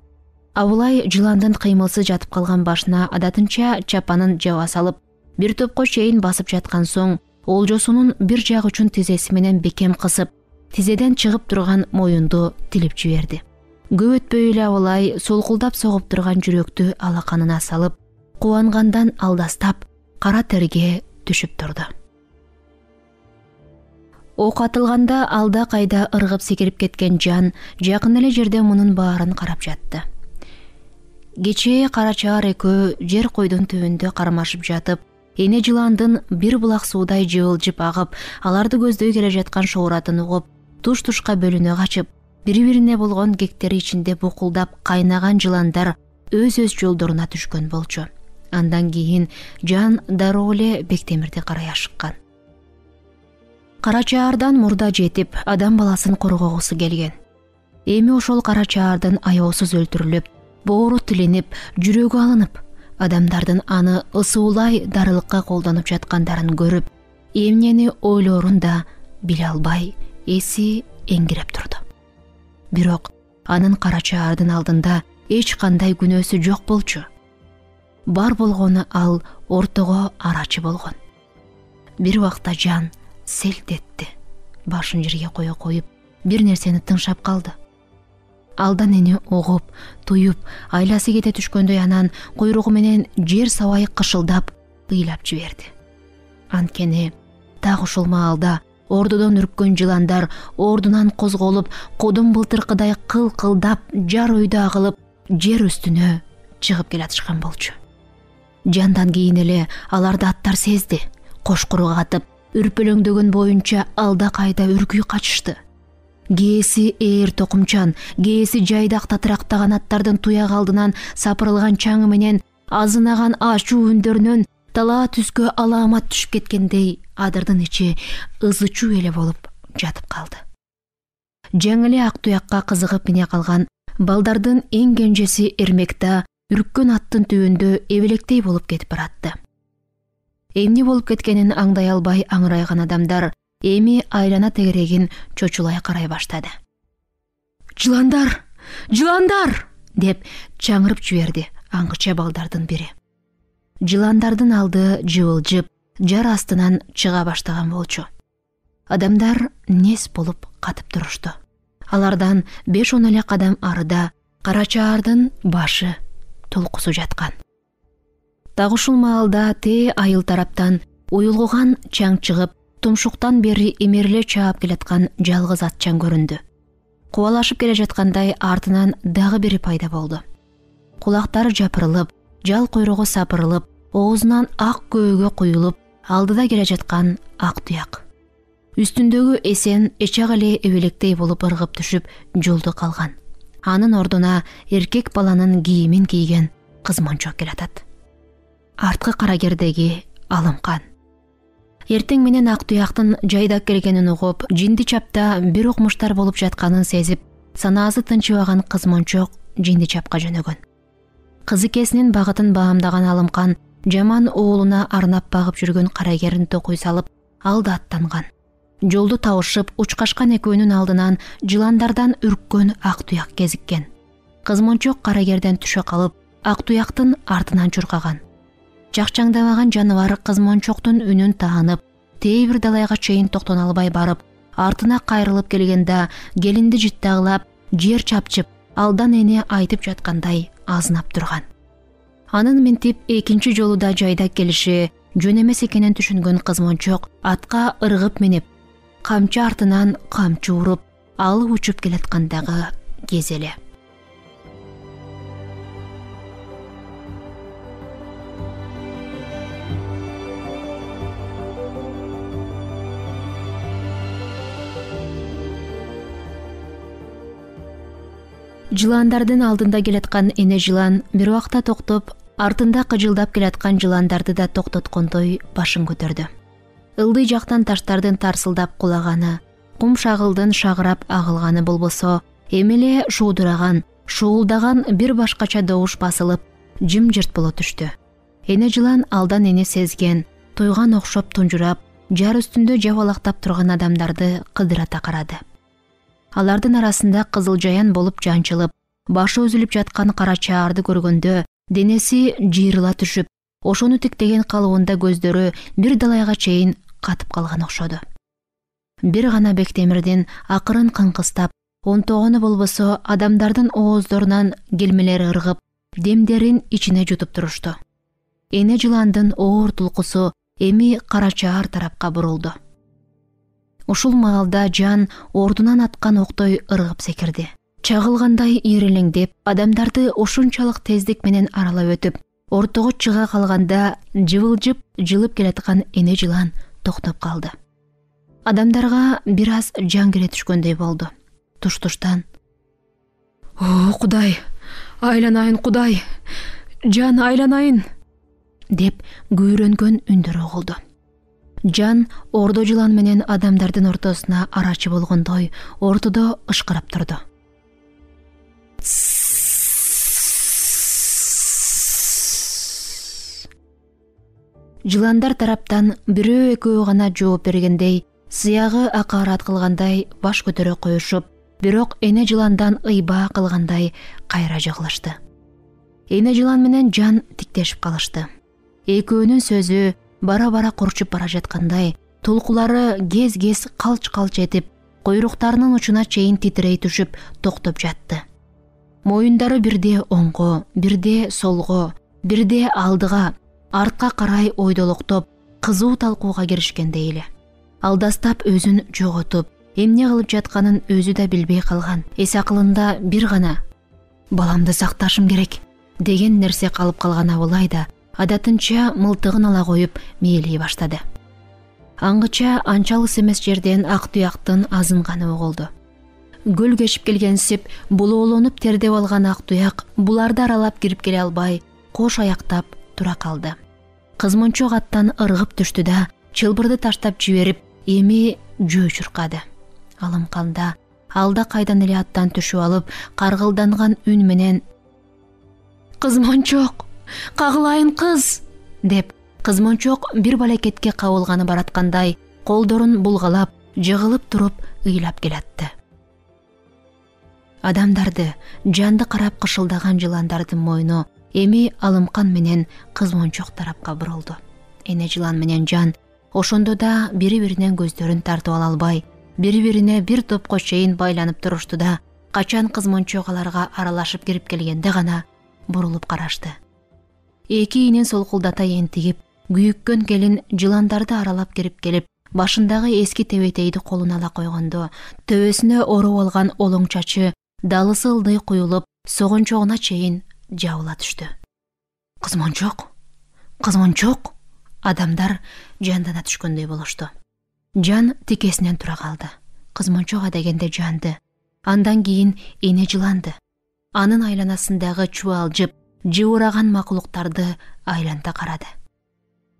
Абылай жыландын кыймылсыз жатып калган башына адатынча чапанын жаба салып, бир топко чейин басып жаткан соң олжосунун бир жак учун тизеси менен бекем кысып, тизеден чыгып турган моюнду тилип жиберди. Көп өтпөй эле Абылай солкулдап согуп турган жүрөктү алаканына салып, кубангандан алдастап кара терге түшүп турду. Ок атылганда алда кайда ыргып секирип кеткен Жан жакын эле жерде мунун баарын карап жатты. Кечээ Карачаар экөө жер койдун түбүндө кармашып жатып, эне жыландын бир булак суудай жыбылжып агып, аларды көздөй келе жаткан шоуратын угуп, туш-тушка бөлүнө качып, бири-бирине болгон кектери ичинде букулдап кайнаган жыландар өз-өз жолдоруна түшкөн болчу. Андан кийин Жан дароо эле Бектемирди карай ашыккан. Карачаардан мурда жетип, адам баласын коргогусу келген. Эми ошол Карачаардын аеосуз өлтүрүлүп, боору тилинип, жүрөгү алынып, адамдардын аны ысуулай дарылыкка колдонуп жаткандарын көрүп, эмнени ойлоорун да биле албай, эси эңгиреп турду. Бирок анын Карачаардын алдында эч кандай күнөөсү жок болчу. Бар болгону ал ортого арачы болгон. Бир убакта Жан селт этти. Башын жерге кое коюп, бир нерсени тыңшап калды. Алдан эни угуп, туюп, айласы кете түшкөндөй анан куйругу менен жер сабай кышылдап, ыйлап жиберди. Анткени так ушул маалда ордодон үрккөн жыландар ордунан козголуп, кодун былтыркыдай кыл-кылдап, жар өйдө агылып, жер үстүнө чыгып келатышкан болчу. Жандан кийин эле аларды аттар сезди. Кошкурук атып, үрпөлөңдөгөн боюнча алда кайда үркүй качышты. Кээси ээр токумчан, кээси жайдак татырактаган аттардын туяк алдынан сапырылган чаңы менен азынаган ачуу үндөрүнөн талаа түскө алаамат түшүп кеткендей адырдын ичи ызычуу эле болуп жатып калды. Жаңы эле ак туякка кызыгып мине калган балдардын эң кенжеси Эрмекта үрккөн аттын түбүндө эбелектей болуп кетип баратты. Эмне болуп кеткенин аңдай албай аңырайган адамдар эми айлана тегерегин чочулай карай баштады. «Жыландар! Жыландар!» деп чаңырып жиберди аңгыча балдардын бири. Жыландардын алды жыбылжып, жар астынан чыга баштаган болчу. Адамдар нес болуп катып турушту. Алардан беш он эле кадам арыда Карачаардын башы толкусу жаткан. Так ушул маалда тээ айыл тараптан уюлгуган чаң чыгып, тумшуктан бери эмериле чаап келаткан жалгыз атчан көрүндү. Кубалашып келе жаткандай артынан дагы бири пайда болду. Кулактары жапырылып, жал куйругу сапырылып, оозунан ак көөгө куюлуп, алдыда келе жаткан ак туяк. Үстүндөгү эсен эчак эле эбелектей болуп ыргып түшүп жолдо калган. Анын ордуна эркек баланын кийимин кийген кыз-мончок келатат. Арткы карагердеги Алымкан. Эртең менен ак туяктын жайдак келгенин угуп, жинди чапта бир укмуштар болуп жатканын сезип, санаасы тынчыбаган кыз-мончок жинди чапка жөнөгөн. Кызыкесинин багытын баамдаган Алымкан жаман уулуна арнап багып жүргөн карагерин токуй салып, алда аттанган. Жолду табышып, учкашкан экөөнүн алдынан жыландардан үрккөн ак туяк кезиккен. Кыз-мончок карагерден түшө калып, ак туяктын артынан чуркаган. Жакчаңдабаган жаныбар кыз-мончоктун үнүн таанып, тээ бир далайга чейин токтоно албай барып, артына кайрылып келгенде келинди жыттагылап, жер чапчып, алдан эне айтып жаткандай азынап турган. Анын минтип экинчи жолу да жайдак келиши жөн эмес экенин түшүнгөн кыз-мончок атка ыргып минип, камчы артынан камчы уруп, алып учуп келаткандагы кез эле. Жыландардын алдында келаткан эне жылан бир убакта токтоп, артында кыжылдап келаткан жыландарды да токтоткондой башын көтөрдү. Ылдый жактан таштардын тарсылдап кулаганы, кум шагылдын шагырап агылганы болбосо, эмеле шуудураган, шуулдаган бир башкача добуш басылып, жымжырт боло түштү. Эне жылан алдан эне сезген, тойган окшоп тунжурап, жар үстүндө жабалактап турган адамдарды кыдырата карады. Алардын арасында кызыл жаян болуп жанчылып, башы үзүлүп жаткан кара чаарды көргөндө денеси жыйрыла түшүп, ошону тиктеген калыбында көздөрү бир далайга чейин катып калган окшоду. Бир гана Бектемирдин акырын кыңкыстап, онтогону болбосо адамдардын ооздорунан келмелери ыргып, демдерин ичине жутуп турушту. Эне жыландын оор тулкусу эми кара чаар тарапка бурулду. Ушул маалда Жан ордунан аткан октой ыргып секирди. Чагылгандай ирелеңдеп, адамдарды ошунчалык тездик менен аралап өтүп, ортого чыга калганда жыбылжып жылып келаткан эне жылан токтоп калды. Адамдарга бир аз жан кире түшкөндөй болду. Туш-туштан: «О, Кудай, айланайын, Кудай, Жан, айланайын!» деп күйрөнгөн үндөр угулду. Жан ордо жылан менен адамдардын ортосуна арачы болгондой ортодо ышкырап турду. Жыландар тараптан бирөө экөө гана жооп бергендей, сыягы акарат кылгандай баш көтөрө коюшуп, бирок эне жыландан ыйбаа кылгандай кайра жыгылышты. Эне жылан менен Жан тиктешип калышты. Экөөнүн сөзү бара-бара курчуп бара жаткандай, толкулары кез-кез калч-калч этип, койруктарынын учуна чейин титирей түшүп, токтоп жатты. Моюндары бирде оңго, бирде солго, бирде алдыга, артка карай ойдолоктоп, кызуу талкууга киришкендей эле. Алдастап өзүн жоготуп, эмне кылып жатканын өзү да билбей калган. Эс акылында бир гана «баламды сакташым керек» деген нерсе калып калган Абылай да адатынча мылтыгын ала коюп мээлей баштады. Аңгыча анчалыс эмес жерден ак туяктын азынганы угулду. Гөл кешип келгенсип, булоолонуп тердеп алган ак туяк буларды аралап кирип келе албай, кош аяктап тура калды. Кызмончок аттан ыргып түштү да, чылбырды таштап жиберип, эми жөө чуркады. Алымканда алда кайдан эле аттан түшүп алып, каргылданган үн менен: «Кызмончок, кагылайын кыз!» деп, кызмончок бир балекетке кабылганы бараткандай, колдорун булгалап, жыгылып туруп ыйлап келатты. Адамдарды, Жанды карап кышылдаган жыландардын мойну эми Алымкан менен кызмончок тарапка бурулду. Эне жылан менен Жан ошондо да бири-биринен көздөрүн тартып ала албай, бири-бирине бир топко чейин байланып турушту да, качан кызмончок аларга аралашып кирип келгенде гана бурулуп карашты. Эки ийнин солкулдата энтигип, күйүккөн келин жыландарды аралап кирип келип, башындагы эски тебетейди колуна ала койгондо, төбөсүнө ороп алган олоң чачы далысы ылдый куюлуп, согончогуна чейин жабыла түштү. «Кызмончок, кызмончок!» Адамдар жандана түшкөндөй болушту. Жан тикесинен тура калды. Кызмончок адегенде Жанды, андан кийин эне жыланды, анын айланасындагы чубалжып, жыбыраган макулуктарды айланта карады.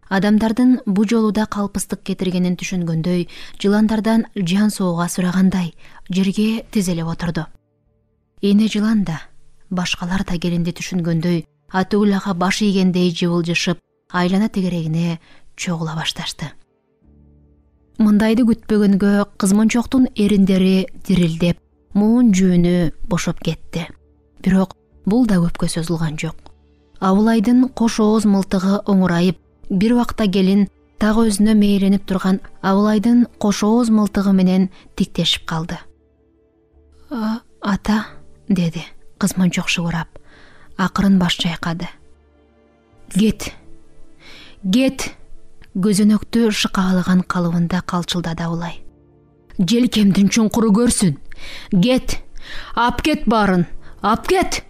Адамдардын бу жолу да калпыстык кетиргенин түшүнгөндөй, жыландардан жан сууга сурагандай жерге тизелеп отурду. Эне жылан да, башкалар да келинди түшүнгөндөй, атуулага баш ийгендей жыбылжышып, айлана тегерегине чогула башташты. Мындайды күтпөгөнгө кызмончоктун эриндери дирилдеп, муун жүүнү бошоп кетти. Бирок бул да көпкө созулган жок. Абылайдын кош ооз мылтыгы оңурайып, бир убакта келин так өзүнө мээленип турган Абылайдын кош ооз мылтыгы менен тиктешип калды. «А, ата», деди кызмончок шыбырап, акырын баш чайкады. «Кет, кет!» Көзөнөктү шыкаалаган калыбында калчылдады Абылай. «Желкемдин чуңкуру көрсүн! Кет! Ап кет баарын! Ап кет!»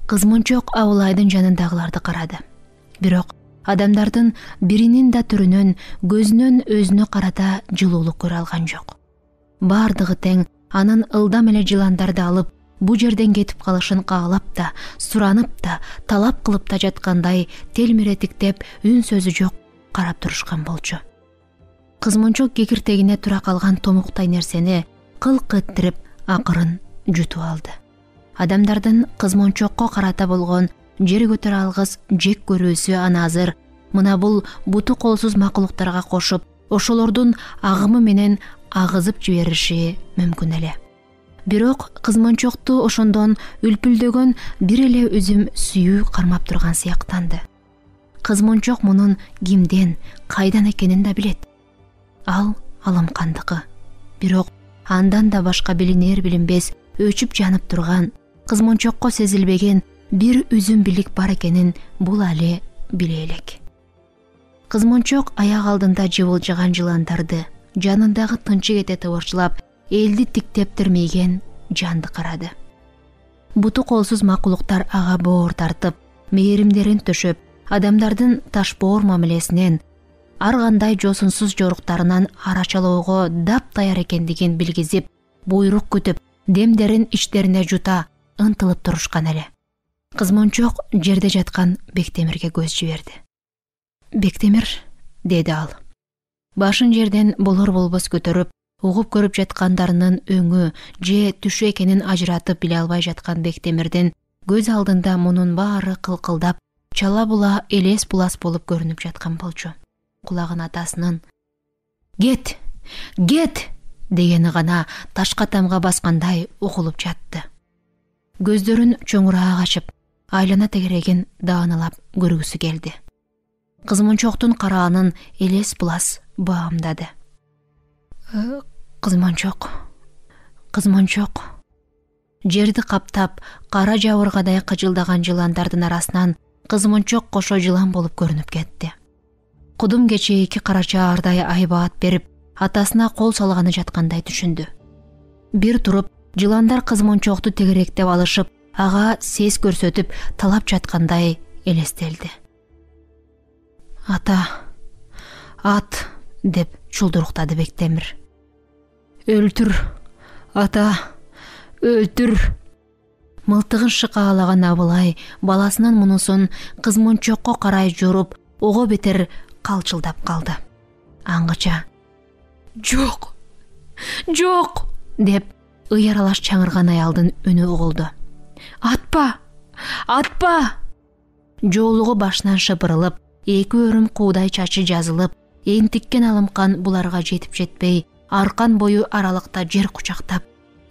Кызмончок Абылайдын жанындагыларды карады. Бирок адамдардын биринин да түрүнөн, көзүнөн өзүнө карата жылуулук көрө алган жок. Бардыгы тең анын ылдам эле жыландарды алып, бу жерден кетип калышын каалап да, суранып да, талап кылып да жаткандай телмиретиктеп, үн сөзү жок карап турушкан болчу. Кызмончок кекиртегине тура калган томуктай нерсени кылк эттирип акырын жутуп алды. Адамдардын кызмончокко карата болгон жер көтөрө алгыс жек көрүүсү аны азыр мына бул буту колсуз макулуктарга кошуп, ошолордун агымы менен агызып жибериши мүмкүн эле. Бирок кызманчокту ошондон үлпүлдөгөн бир эле үзүм сүйүү кармап турган сыяктанды. Кызманчок мунун кимден, кайдан экенин да билет. Ал Алымкандыкы. Бирок андан да башка билинер билинбес өчүп жанып турган, кызманчокко сезилбеген бир үзүм билик бар экенин бул али биле элек. Кызманчок аяк алдында жыбылжыган жыландарды, жанындагы тынчы кете тыбырчылап, элди тиктеп тирмейген жанды карады. Буту колсуз макулуктар ага боор тартып, мээримдерин төшөп, адамдардын ташбоор мамилесинен, ар кандай жосунсуз жоруктарынан арачалоого дап-даяр экендигин билгизип, буйрук күтүп, демдерин ичтерине жута ынтылып турушкан эле. Кызманчок жерде жаткан Бектемирге көз жиберди. «Бектемир», деди ал. Башын жерден болор-болбос көтөрүп, угуп көрүп жаткандарынын өңү же түшү экенин ажыратып биле албай жаткан Бектемирдин көз алдында мунун баары кылкылдап, чала була элес булас болуп көрүнүп жаткан болчу. Кулагын атасынын «Кет! Кет!» дегени гана ташка тамга баскандай угулуп жатты. Көздөрүн чоңураак ачып, айлана тегерегин даанылап көргүсү келди. Кызманчоктун караанын элес булас баамдады. Кызманчок, кызманчок. Жерди каптап, кара жабыргадай кыжылдаган жыландардын арасынан кызманчок кошо жылан болуп көрүнүп кетти. Кудум кечээ эки карача ардай айбаат берип, атасына кол салганы жаткандай түшүндү. Бир туруп, жыландар кызманчокту тегеректеп алышып, ага сес көрсөтүп талап жаткандай элестелди. «Ата, ат», деп чулдуруктады Бектемир. «Өлтүр, ата, өлтүр». Мылтыгын шыкаалаган Абылай баласынын мунусун кызманчокко карай жоруп, ого бетер калчылдап калды. Аңгыча «Жок, жок!» деп ый аралаш чаңырган аялдын үнү угулду. «Атпа, атпа!» Жоолугу башынан шыпырылып, эки өрүм куудай чачы жазылып, энтиккен Алымкан буларга жетип жетпей, аркан бою аралыкта жер кучактап,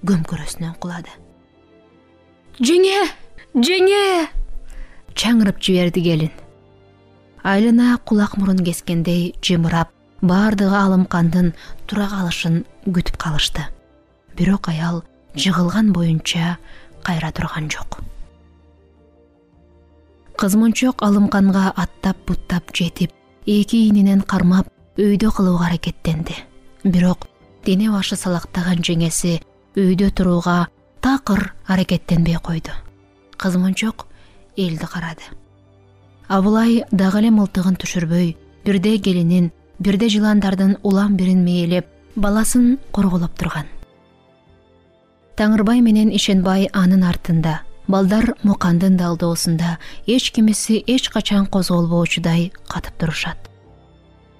көмкөрөсүнөн кулады. «Жеңе! Жеңе!» чаңырып жиберди келин. Айлана кулак мурун кескендей жымырап, баардыгы Алымкандын тура калышын күтүп калышты. Бирок аял жыгылган боюнча кайра турган жок. Кызманчок Алымканга аттап-буттап жетип, эки ининен кармап, өйдө кылууга аракеттенди. Бирок дене башы салактаган жеңеси өйдө турууга такыр аракеттенбей койду. Кызманчок элди карады. Абылай дагы эле мылтыгын түшүрбөй, бирде келинин, бирде жыландардын улам бирин мээлеп, баласын корголоп турган. Таңырбай менен Ишенбай анын артында, балдар Мукандын далдоосунда эч кимиси эч качан козголбоочудай катып турушат.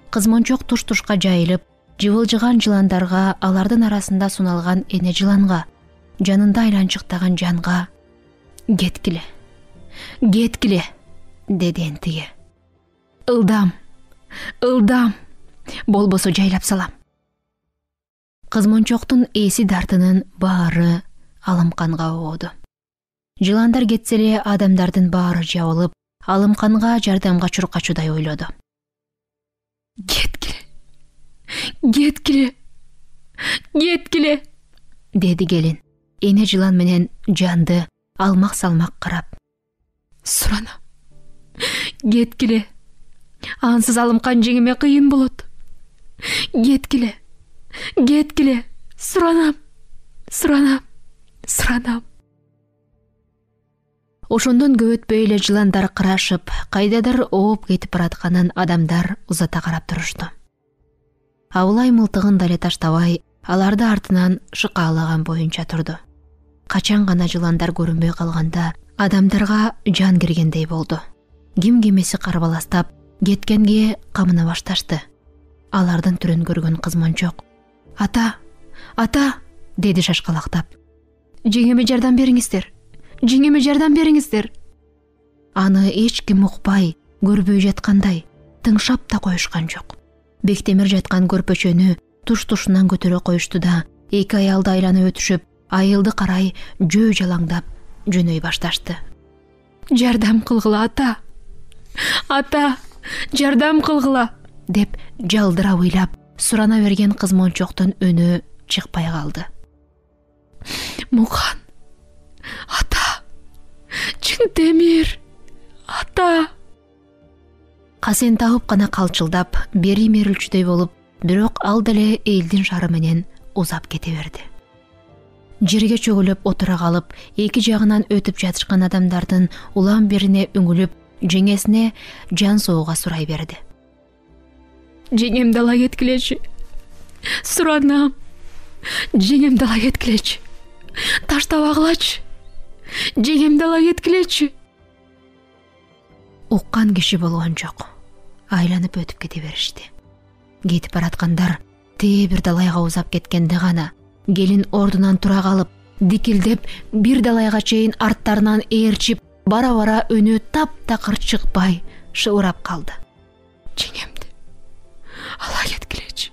Кызманчок туш-тушка жайылып, жыбылжыган жыландарга, алардын арасында суналган эне жыланга, жанында айланчыктаган жанга «Кеткиле, кеткиле!» деди энтиге. «Ылдам, ылдам, болбосо жайлап салам». Кызманчоктун эси дартынын баары Алымканга огоду. Жыландар кетсе эле адамдардын баары жабылып, Алымканга жардамга чуркачудай ойлоду. «Кеткиле, кеткиле, кеткиле!» деди келин. Эне жылан менен жанды алмак-салмак карап. «Суранам, кеткиле. Ансыз Алымкан жеңиме кыйын болот. Кеткиле, кеткиле, суранам, суранам, суранам». Ошондон көп өтпөй эле жыландар кырашып, кайдадыр ооп кетип баратканын адамдар узата карап турушту. Абылай мылтыгын дале таштабай, аларды артынан шыкаалаган боюнча турду. Качан гана жыландар көрүнбөй калганда, адамдарга жан киргендей болду. Ким кимиси карбаластап, кеткенге камына башташты. Алардын түрүн көргөн Кызманчок «Ата, ата!» деди шашкалактап. «Жеңеме жардам бериңиздер, жеңеме жардам бериңиздер». Аны эч ким укпай, көрбөй жаткандай, тыңшап да коюшкан жок. Бектемир жаткан көрпөчөнү туш-тушунан көтөрө коюшту да эки аялды айланып өтүшүп, айылды карай жөө жалаңдап жөнөй башташты. Жардам кылгыла ата. Ата, жардам кылгыла деп жалдыра ыйлап сурана берген кыз-мончоктун үнү чыкпай калды. Мукан, ата, чын темир, ата. Касен табып гана калчылдап, бери мерилчүдөй болуп, бирок ал деле элдин шары менен узап кете берди. Жерге чөгүлүп отура калып, эки жагынан өтүп жатышкан адамдардын улам бирине үңүлүп, жеңесине жан соого сурай берди. Жеңемди ала кеткилечи. Суранам. Жеңемди ала кеткилечи. Таштабагылачы. Жеңемди ала кеткилечи. Уккан киши болгон жок. Айланып өтүп кете беришти. Кетип бараткандар тээ бир далайга узап кеткенде гана келин ордунан тура калып, дикилдеп, бир далайга чейин арттарынан ээрчип, бара-бара өнү таптакыр чыкпай шыбырап калды. Жеңемди ала кеткилечи.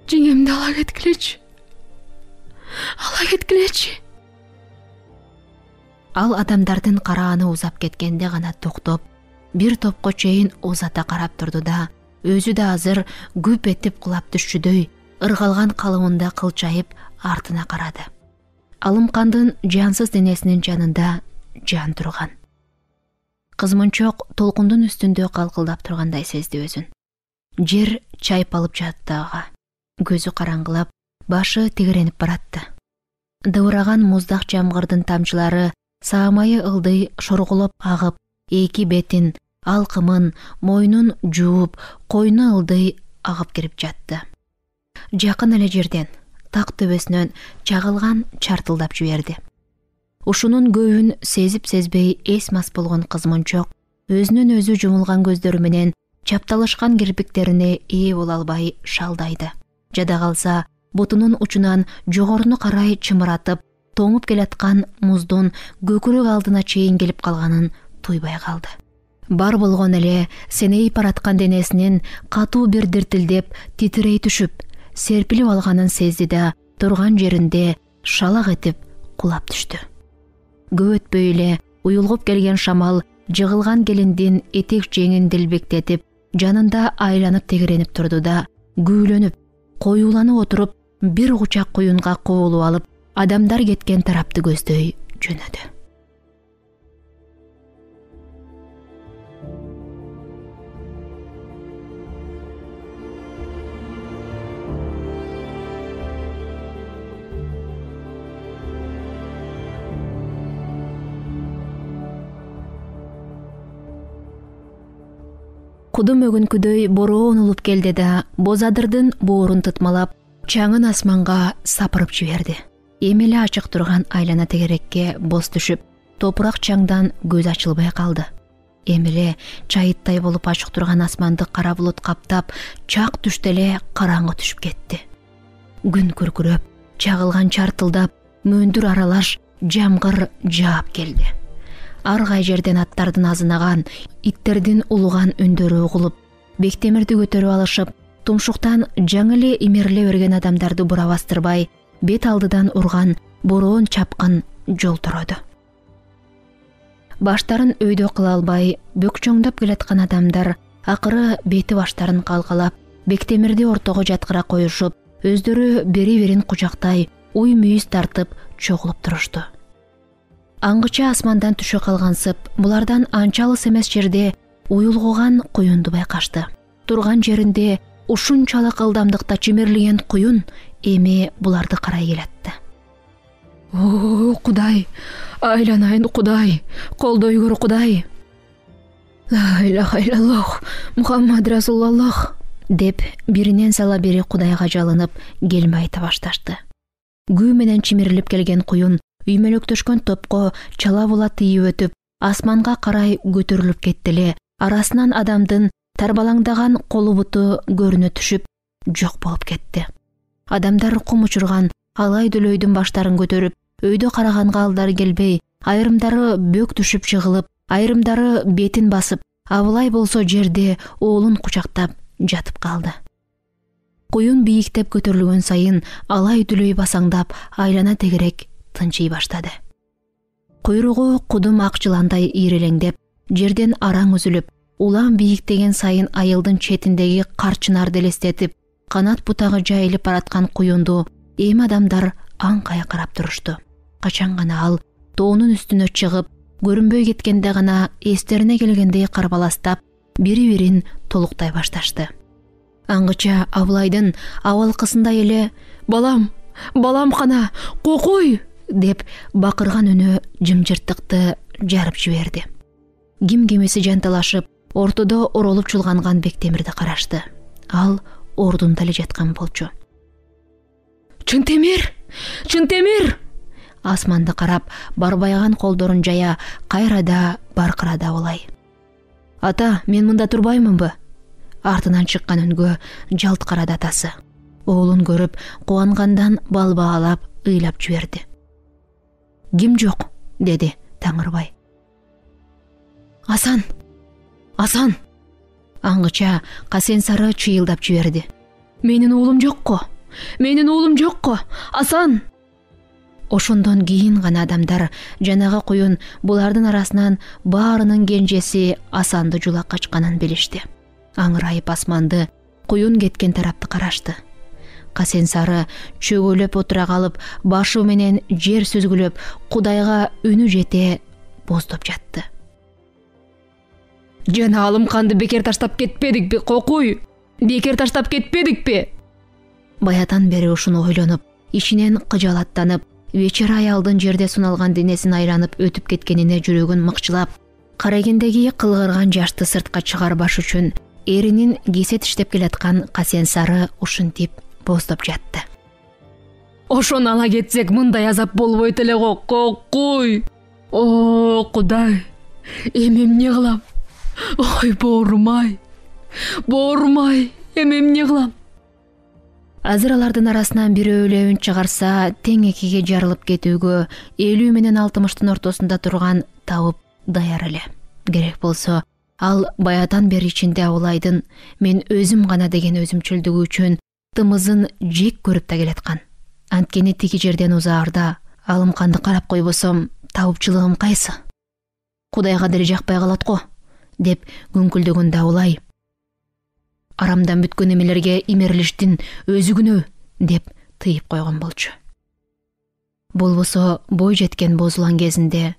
Жеңемди ала кеткилечи. Ала кеткилечи. Ал адамдардын карааны узап кеткенде гана токтоп, бир топко чейин узата карап турду да, өзү да азыр күп этип кулап түшчүдөй ыргалган калыбында кылчайып артына карады. Алымкандын жансыз денесинин жанында жан турган. Кыз-мончок толкундун үстүндө калкылдап тургандай сезди өзүн. Жер чайпалып жатты ага. Көзү караңгылап, башы тегеренип баратты. Дыбыраган муздак жамгырдын тамчылары саамайы ылдый шорголоп агып, эки бетин, алкымын, мойнун жууп, койну ылдый агып кирип жатты. Жакын эле жерден, так төбөсүнөн чагылган чартылдап жиберди. Ушунун көбүн сезип-сезбей эс-мас болгон кыз-мончок өзүнүн өзү жумулган көздөрү менен чапталышкан кирпиктерине ээ боло албай шалдайды. Жада калса, бутунун учунан жогоруну карай чымыратып, тоңуп келаткан муздун көкүрөк алдына чейин келип калганын туйбай калды. Бар болгон эле сенейип бараткан денесинин катуу бир диртилдеп, титирей түшүп, серпилип алганын сезди да, турган жеринде шалак этип кулап түштү. Көп өтпөй эле уюлгуп келген шамал жыгылган келиндин этек жеңин делбектетип, жанында айланып тегеренип турду да, күүлөнүп, коюуланып отуруп, бир кучак куюнга кобулуп алып, адамдар кеткен тарапты көздөй жөнөдү. Кудум өгүнкүдөй бороон улуп келди да, бозадырдын боорун тытмалап, чаңын асманга сапырып жиберди. Эми эле ачык турган айлана тегерекке боз түшүп, топурак чаңдан көз ачылбай калды. Эми эле чайыттай болуп ачык турган асманды кара булут каптап, чак түштө эле караңгы түшүп кетти. Күн күркүрөп, чагылган чартылдап, мөндүр аралаш жамгыр жаап келди. Ар кай жерден аттардын азынаган, иттердин улуган үндөрү угулуп, бектемирди көтөрүп алышып, тумшуктан жаңы эле имериле берген адамдарды бура бастырбай, бет алдыдан урган бороон чапкын жол тороду. Баштарын өйдө кыла албай, бөкчөңдөп келаткан адамдар акыры бети баштарын калкалап, бектемирди ортого жаткыра коюшуп, өздөрү бери-бирин кучактай, уй мүйүз тартып чогулуп турушту. Аңгыча асмандан түшө калгансып, булардан анча алыс эмес жерде уюлгуган куюнду байкашты. Турган жеринде ушунчалык ылдамдыкта чимирлеген куюн эми буларды карай келатты. О, Кудай, айланайын Кудай, колдой көр Кудай. Ла иляха иллаллах, Мухаммад Расулаллах деп биринен сала бери Кудайга жалынып, келме айта башташты. Күү менен чимирилип келген куюн үймөлөктөшкөн топко чала була тийип өтүп, асманга карай көтөрүлүп кетти эле, арасынан адамдын тарбалаңдаган колу буту көрүнө түшүп, жок болуп кетти. Адамдар кум учурган алай дөйлөйдүн баштарын көтөрүп, өйдө караганга алдары келбей, айрымдары бөк түшүп жыгылып, айрымдары бетин басып, абылай болсо жерде оолун кучактап жатып калды. Куюн бийиктеп көтөрүлгөн сайын алай дүлөй басаңдап айлана тегерек тынчый баштады. Куйругу кудум ак жыландай ийрелеңдеп, жерден араң үзүлүп, улам бийиктеген сайын айылдын четиндеги кар чынарды элестетип, канат бутагы жайылып бараткан куюнду эми адамдар аңкая карап турушту. Качан гана ал тоонун үстүнө чыгып, көрүнбөй кеткенде гана эстерине келгендей карбаластап, бири-бирин толуктай башташты. Аңгыча Абылайдын абалкысында эле «Балам, балам кана, кокуй!» деп бакырган үнү жымжырттыкты жарып жиберди. Ким кемеси жанталашып, ортодо оролуп чулганган Бектемирди карашты. Ал ордунда эле жаткан болчу. «Чынтемир! Чынтемир!» Асманды карап, барбайган колдорун жая, кайрада баркырады Абылай. «Ата, мен мында турбаймынбы?» Артынан чыккан үнгө жалт карады атасы. Оолун көрүп, кубангандан балбаалап, ыйлап жиберди. «Ким жок?» деди Таңырбай. «Асан! Асан!» Аңгыча Касен Сары чыйылдап жиберди. «Менин уулум жокко! Менин уулум жокко! Асан!» Ошондон кийин гана адамдар жанагы куюн булардын арасынан баарынын кенжеси Асанды жулап качканын билишти. Аңырайып асманды, куюн кеткен тарапты карашты. Касен Сары чөгөлөп отура калып, башы менен жер сүзгүлөп, Кудайга үнү жете боздоп жатты. «Жана Алымканды бекер таштап кетпедикпи, кокуй? Бекер таштап кетпедикпи?» Баятан бери ушуну ойлонуп, ичинен кыжалаттанып, вечер аялдын жерде суналган денесин айланып өтүп кеткенине жүрөгүн мыкчылап, карагендеги кылгырган жашты сыртка чыгарбаш үчүн эринин кесет иштеп келаткан Касен Сары ушинтип боздоп жатты. «Ошону ала кетсек мындай азап болбойт эле го, кокуй! О, Кудай! Эми эмне кылам? Ой, боорум-ай! Боорум-ай! Эми эмне кылам?» Азыр алардын арасынан бирөө эле үн чыгарса, тең экиге жарылып кетүүгө элүү менен алтымыштын ортосунда турган табып даяр эле. Керек болсо, ал баятан бери ичинде Абылайдын «мен өзүм гана» деген өзүмчүлдүгү үчүн тымызын жек көрүп да келаткан. Анткени тиги жерден узаарда Алымканды карап койбосом, табыпчылыгым кайсы? Кудайга деле жакпай калат го, деп күңкүлдөгөндө Абылай «Арамдан бүткөн эмелерге имерилиштин өзү күнөө» деп тыйып койгон болчу. Болбосо бой жеткен бозулан кезинде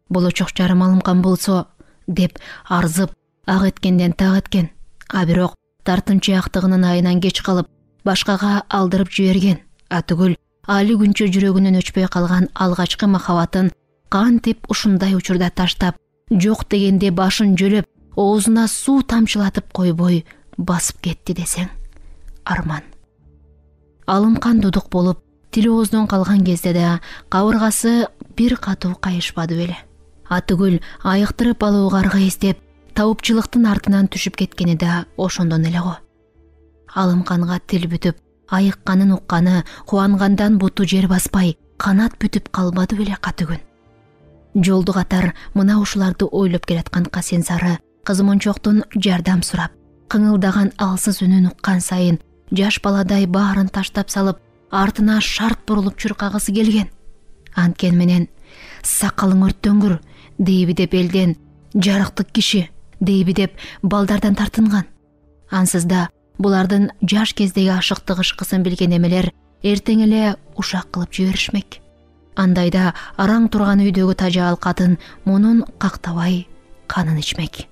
«болочок жарым Алымкан болсо» деп арзып, ак эткенден так эткен, а бирок тартынчаактыгынын айынан кеч калып, башкага алдырып жиберген, а түгүл али күнчө жүрөгүнөн өчпөй калган алгачкы махабатын кантип ушундай учурда таштап, жок дегенде башын жөлөп, оозуна суу тамчылатып койбой басып кетти десең, арман. Алымкан дудук болуп, тили ооздон калган кезде да кабыргасы бир катуу кайышпады беле. А түгүл айыктырып алууга аргайыстеп, табыпчылыктын артынан түшүп кеткени да ошондон эле го. Алымканга тил бүтүп, айыкканын укканы кубангандан буту жер баспай, канат бүтүп калбады беле катүгүн. Жолду катар мына ушуларды ойлоп келаткан Касен Сары кызмончоктун жардам сурап, кыңылдаган алсыз үнүн уккан сайын жаш баладай баарын таштап салып, артына шарт бурулуп чуркагысы келген. Анткен менен «сакалың өрттөнгүр» дейби деп элден, «жарыктык киши» дейби деп балдардан тартынган. Ансыз да булардын жаш кездеги ашыктык ышкысын билген эмелер эртең эле ушак кылып жиберишмек. Андайда араң турган үйдөгү тажаал катын мунун кактабай канын ичмек.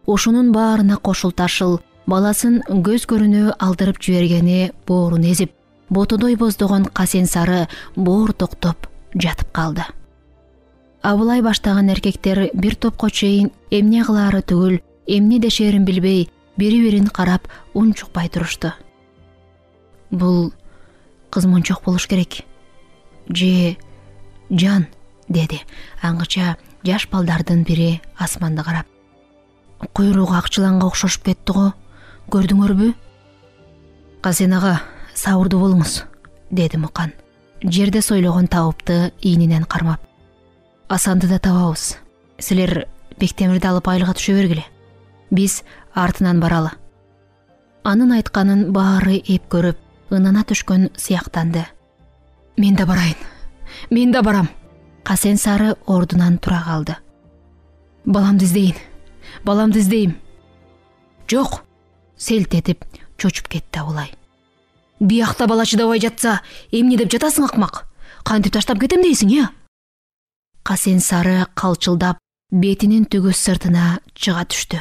Ошонун баарына кошулташыл баласын көз көрүнө алдырып жибергени боорун эзип, ботодой боздогон Касен Сары боор токтоп жатып калды. Абылай баштаган эркектер бир топко чейин эмне кылаары түгүл, эмне дешерин билбей, бири-бирин карап унчукпай турушту. Бул кызмончок болуш керек. Же жан, деди аңгыча жаш балдардын бири асманды карап. Куйругу акчыланга окшошуп кетти го, көрдүңөрбү? Касен ага, сабырдуу болуңуз, деди Мукан, жерде сойлогон табыпты ийнинен кармап. Асанды да табабыз. Силер Бектемирди алып айылга түшө бергиле. Биз артынан баралы. анын айтканын баары эп көрүп, ынана түшкөн сыяктанды. Мен да барайын. Мен да барам. Касен сары ордунан тура калды. Баламды издейин. Баламды издейм. Жок. Селт этип чочуп кетти Абылай. Биякта бала чыдабай жатса, эмне деп жатасың, акмак? Кантип таштап кетем дейсиң, э? Касен сары калчылдап бетинин түгүс сыртына чыга түштү.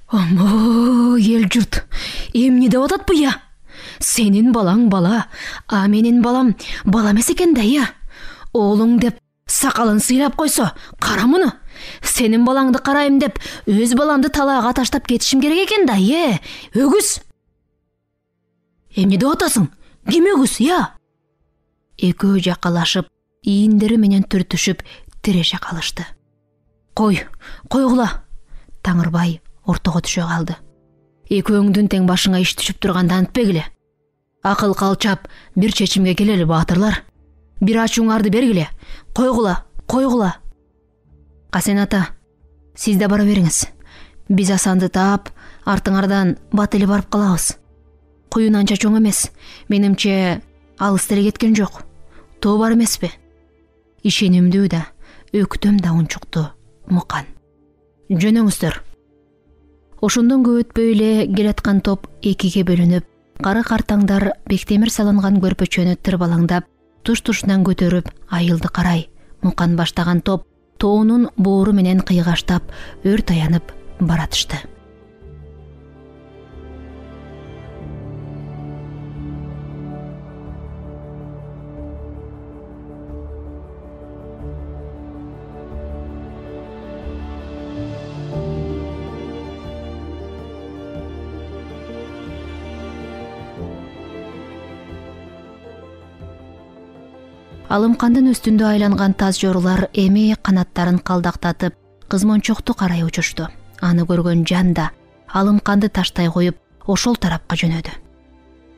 Омо, эл журт, эмне деп атат бу, я? Сенин балаң бала, а менин балам бала эмес экен да, я? Оолуң деп сакалын сыйлап койсо, кара муну. Сенин балаңды карайм деп, өз баламды талаага таштап кетишим керек экен да, э? Өгүз. Эмне деп атасың? Ким өгүз, я? Экөө жакалашып, ийиндери менен түртүшүп, тиреше калышты. Кой, койгула. Таңырбай ортого түшө калды. Экөөңдүн тең башыңа иш түшүп турганда антпегиле. Акыл калчап, бир чечимге келели, баатырлар. Бир ачууңарды бергиле. Койгула, койгула. Касен ата, сиз да бара бериңиз. Биз Асанды таап, артыңардан бат эле барып калабыз. Куюн анча чоң эмес. Менимче алыс деле кеткен жок. Тоо бар эмеспи? Ишенимдүү да, өктөм да унчукту Мукан. Жөнөңүздөр. Ошондон көп өтпөй эле келаткан топ экиге бөлүнүп, кары картаңдар бектемир салынган көрпөчөнү тырбалаңдап, туш-тушунан көтөрүп айылды карай. Мукан баштаган топ тоонун боору менен кыйгаштап, өр таянып баратышты. Алымкандын үстүндө айланган таз жорулар эми канаттарын калдактатып, кызмончокту карай учушту. Аны көргөн Жан да Алымканды таштай коюп, ошол тарапка жөнөдү.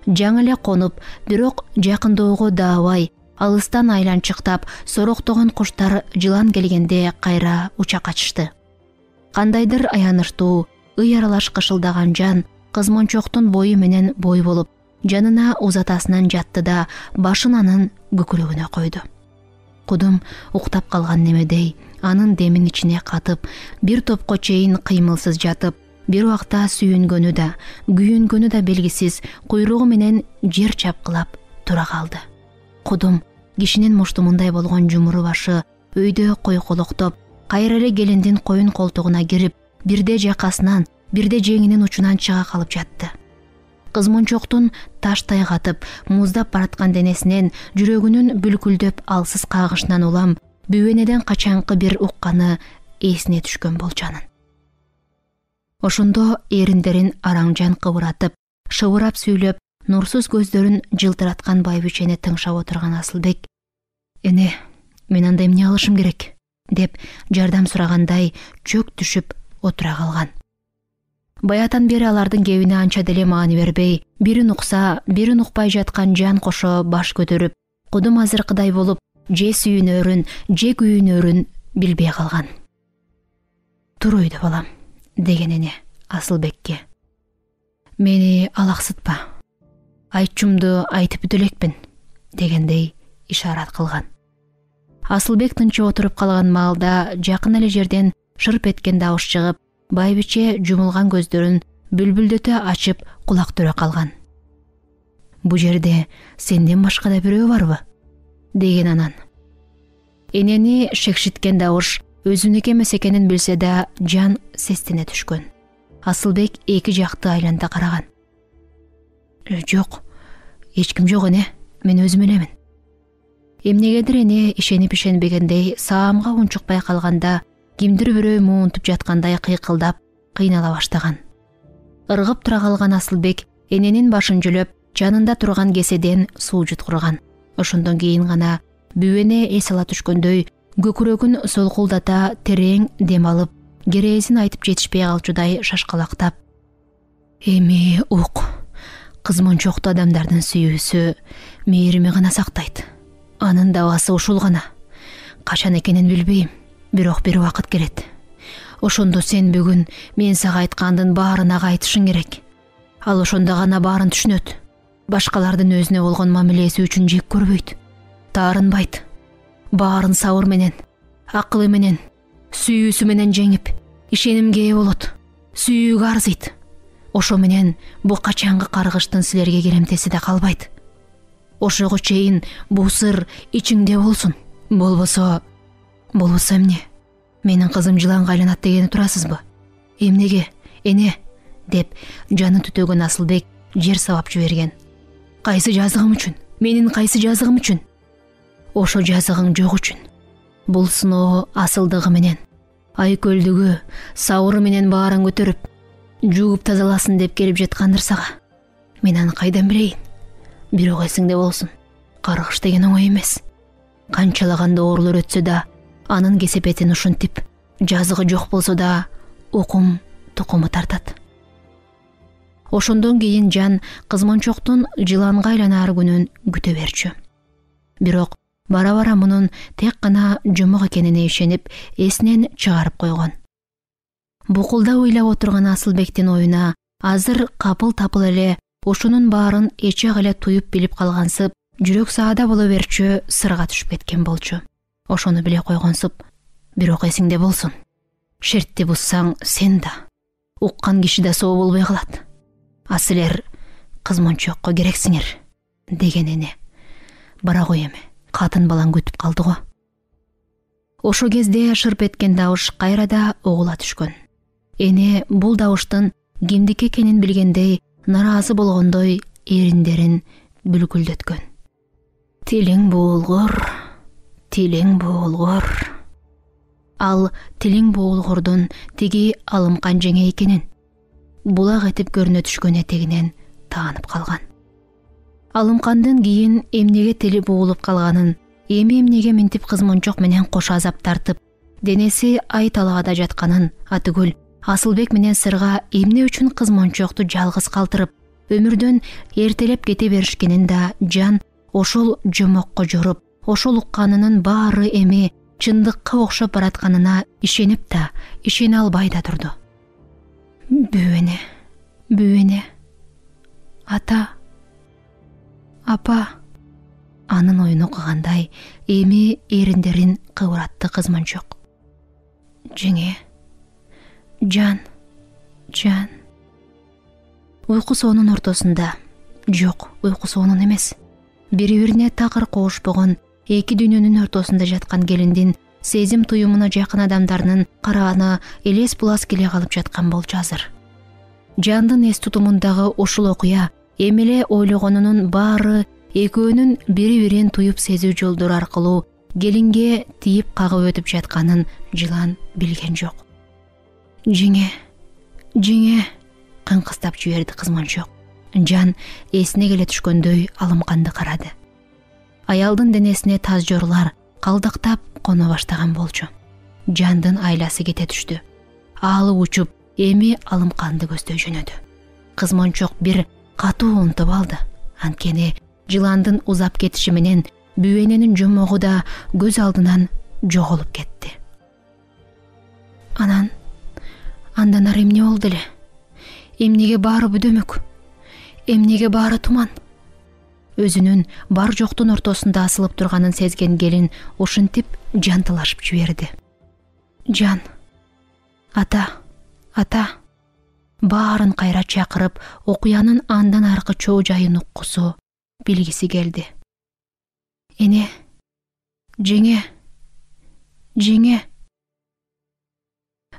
Жаңы эле конуп, бирок жакындоого даабай, алыстан айланчыктап, сороктогон куштар жылан келгенде кайра уча качышты. Кандайдыр аянычтуу, ый аралаш кышылдаган Жан кызмончоктун бою менен бой болуп, жанына узатасынан жатты да башын анын көкүрөгүнө койду. Кудум уктап калган немедей анын демин ичине катып, бир топко чейин кыймылсыз жатып, бир убакта сүйүнгөнү да, күйүнгөнү да белгисиз куйругу менен жер чапкылап тура калды. Кудум кишинин муштумундай болгон жумуру башы өйдө койколоктоп, кайра эле келиндин коюн колтугуна кирип, бирде жакасынан, бирде жеңинин учунан чыга калып жатты. Кызмончоктун таштай катып, муздап бараткан денесинен, жүрөгүнүн бүлкүлдөп алсыз кагышынан улам, бүбөнеден качанкы бир укканы эсине түшкөн болчанын. Ошондо эриндерин Араңжан кыбыратып, шыбырап сүйлөп, нурсуз көздөрүн жылтыраткан байбичени тыңшап отурган Асылбек: «Эне, мен анда эмне кылышым керек?» деп жардам сурагандай чөк түшүп отура калган. Баятан бери алардын кебине анча деле маани бербей, бирин укса, бирин укпай жаткан Жан кошо баш көтөрүп, кудум азыркыдай болуп, же сүйүнөрүн, же күйүнөрүн билбей калган. «Тур өйдө балам», деген эне Асылбекке. «Мени алаксытпа. Айтчумду айтып бүтө элекпин», дегендей ишарат кылган. Асылбек тынчып отуруп калган маалда жакын эле жерден шырп эткен дабыш чыгып, байбиче жумулган көздөрүн бүлбүлдөтө ачып кулак түрө калган. «Бу жерде сенден башка да бирөө барбы?» деген анан. Энени шекшиткен дабыш өзүнүкү эмес экенин билсе да, Жан сестене түшкөн. Асылбек эки жакты айланта караган. «Жок, эч ким жок эне, мен өзүм элемин». Эмнегедир эне ишенип ишенбегендей саамга унчукпай калганда, кимдир бирөө муунтуп жаткандай кыйкылдап, кыйнала баштаган. Ыргып тура калган Асылбек эненин башын жөлөп, жанында турган кеседен суу жуткурган. Ошондон кийин гана бүбөне эс ала түшкөндөй көкүрөгүн солкулдата терең дем алып, керээсин айтып жетишпей калчудай шашкалактап: «Эми ук, кызмончокту адамдардын сүйүүсү мээрими гана сактайт. Анын дабасы ушул гана. Качан экенин билбейм, бирок бир убакыт келет. Ошондо сен бүгүн мен сага айткандын баарына кайтышың керек. Ал ошондо гана баарын түшүнөт. Башкалардын өзүнө болгон мамилеси үчүн жек көрбөйт, таарынбайт. Баарын сабыр менен, акылы менен, сүйүүсү менен жеңип, ишенимге ээ болот, сүйүүгө арзыйт. Ошо менен бу качангы каргыштын силерге керемтеси да калбайт. Ошого чейин бул сыр ичиңде болсун. Болбосо, болбосо эмне? Менин кызым жыланга айланат дегени турасызбы? Эмнеге, эне? Деп жаны түтөгөн Асылбек жер сабап жиберген. Кайсы жазыгым үчүн? Менин кайсы жазыгым үчүн? Ошо жазыгың жок үчүн. Бул сыноо асылдыгы менен, айкөлдүгү, сабыры менен баарын көтөрүп, жууп тазаласын деп келип жаткандыр сага. Мен аны кайдан билейин? Бирок эсиңде болсун, каргыш деген оңой эмес. Канчалаган оорулар өтсө да, анын кесепетин ушинтип, жазыгы жок болсо да, укум тукуму тартат. Ошондон кийин Жан кызманчоктун жыланга айланаар күнүн күтө берчү. Бирок бара-бара мунун тек гана жумук экенине ишенип, эсинен чыгарып койгон. Букулда ыйлап отурган Асылбектин оюна азыр капыл-тапыл эле ушунун баарын эчек эле туюп билип калгансып, жүрөк саада боло берчү сырга түшүп кеткен болчу. Ошону биле койгонсуп, бирок эсиңде болсун. Шертти буссаң сен да, уккан киши да соо болбой калат. А силер кызманчокко керексиңер, деген эне. Бара кой эми, катын балаң күтүп калды го. Ошо кезде шырп эткен добуш кайрада угула түшкөн. Эне бул добуштун кимдики экенин билгендей, наразы болгондой эриндерин бүлгүлдөткөн. Тилиң буулгур, тилиң буулгур. Ал тилиң буулгурдун тиги Алымкан жеңе экенин, булак этип көрүнө түшкөн этегинен таанып калган. Алымкандын кийин эмнеге тили буулуп калганын, эми эмнеге минтип кызманчок менен кош азап тартып, денеси ай талаада жатканын, атүгүл Асылбек менен сырга эмне үчүн кызманчокту жалгыз калтырып, өмүрдөн эртелеп кете беришкенин да Жан ошол жомокко жоруп, ошол укканынын баары эми чындыкка окшоп баратканына ишенип да, ишене албай да турду. Бүүнө, бүүнө, ата, апа. Анын оюн окугандай эми эриндерин кыбыратты кызманчок. Жеңе, Жан, Жан. Уйку соонун ортосунда, жок, уйку соонун эмес, бири-бирине такыр коошпогон эки дүйнөнүн ортосунда жаткан келиндин сезим туюмуна жакын адамдарынын карааны элес булас келе калып жаткан болчу азыр. Жандын эс тутумундагы ушул окуя эми эле ойлогонунун баары экөөнүн бири-бирин туюп сезүү жолдору аркылуу келинге тийип кагып өтүп жатканын жылан билген жок. Жеңе, жеңе, кыңкыстап жиберди кызманчок. Жан эсине келе түшкөндөй Алымканды карады. Аялдын денесине таз жорлар калдактап коно баштаган болчу. Жандын айласы кете түштү. Аалы учуп, эми Алымканды көздөй жөнөдү. Кызманчок бир катуу унтуп алды. Анткени жыландын узап кетиши менен бүүененин жомогу да көз алдынан жоголуп кетти. Анан, андан ары эмне болду эле? Эмнеге баары бүдөмөк? Эмнеге баары туман? Өзүнүн бар жоктун ортосунда асылып турганын сезген келин ушинтип жантылашып жиберди. Жан, ата, ата. Баарын кайра чакырып, окуянын андан аркы чоо жайын уккусу, билгиси келди. Эне, жеңе, жеңе.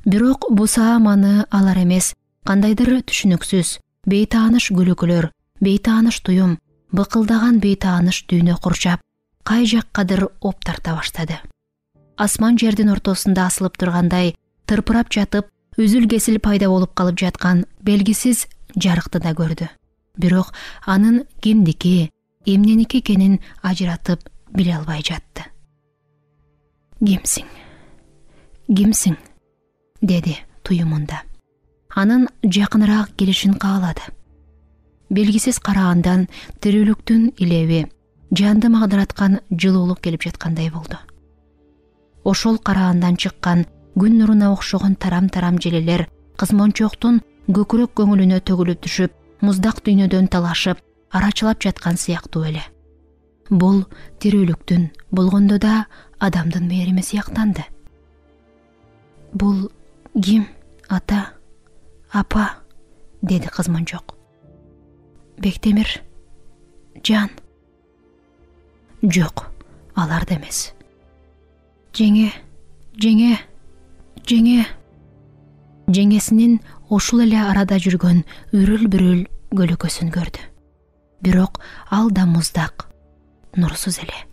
Бирок бусаам аны алар эмес, кандайдыр түшүнүксүз, бейтааныш күлүкөлөр, бейтааныш туюм, быкылдаган бейтааныш дүйнө курчап, кай жаккадыр оп тарта баштады. Асман жердин ортосунда асылып тургандай, тырпырап жатып, үзүл-кесил пайда болуп калып жаткан белгисиз жарыкты да көрдү. Бирок анын кимдики, эмненики экенин ажыратып биле албай жатты. Кимсиң? Кимсиң? Деди туюмунда. Анын жакыныраак келишин каалады. Белгисиз карагандан тирүүлүктүн илеби, жанды магдыраткан жылуулук келип жаткандай болду. Ошол карагандан чыккан күн нуруна окшогон тарам-тарам желелер кызманчоктун көкүрөк көңүлүнө төгүлүп түшүп, муздак дүйнөдөн талашып арачылап жаткан сыяктуу эле. Бул тирүүлүктүн, болгондо да адамдын мээрими сыяктанды. Бул ким, ата, апа? Деди кызманчок. Бектемир, Жан. Жок, алар да эмес. Жеңе, жеңе, жеңе. Жеңесинин ушул эле арада жүргөн үрүл-бүрүл көлөкөсүн көрдү. Бирок ал да муздак, нурсуз эле.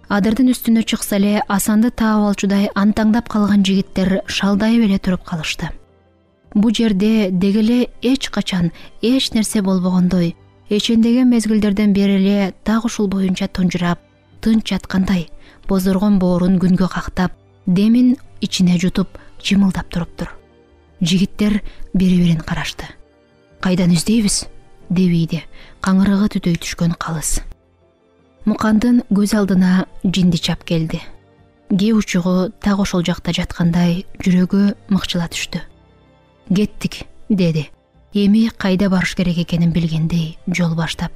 Адырдын үстүнө чыкса эле Асанды таап алчудай антаңдап калган жигиттер шалдайып эле туруп калышты. Бу жерде деги эле эч качан эч нерсе болбогондой, эчендеген мезгилдерден бери эле так ушул боюнча тунжурап, тынч жаткандай, бозоргон боорун күнгө кактап, демин ичине жутуп, жымылдап туруптур. Жигиттер бири-бирин карашты. Кайдан издейбиз? деп ийди каңырыгы түтөй түшкөн Калыс. Мукандын көз алдына жинди чап келди. Ке учугу так ошол жакта жаткандай жүрөгү мыкчыла түштү. Кеттик, деди. Эми кайда барыш керек экенин билгендей жол баштап.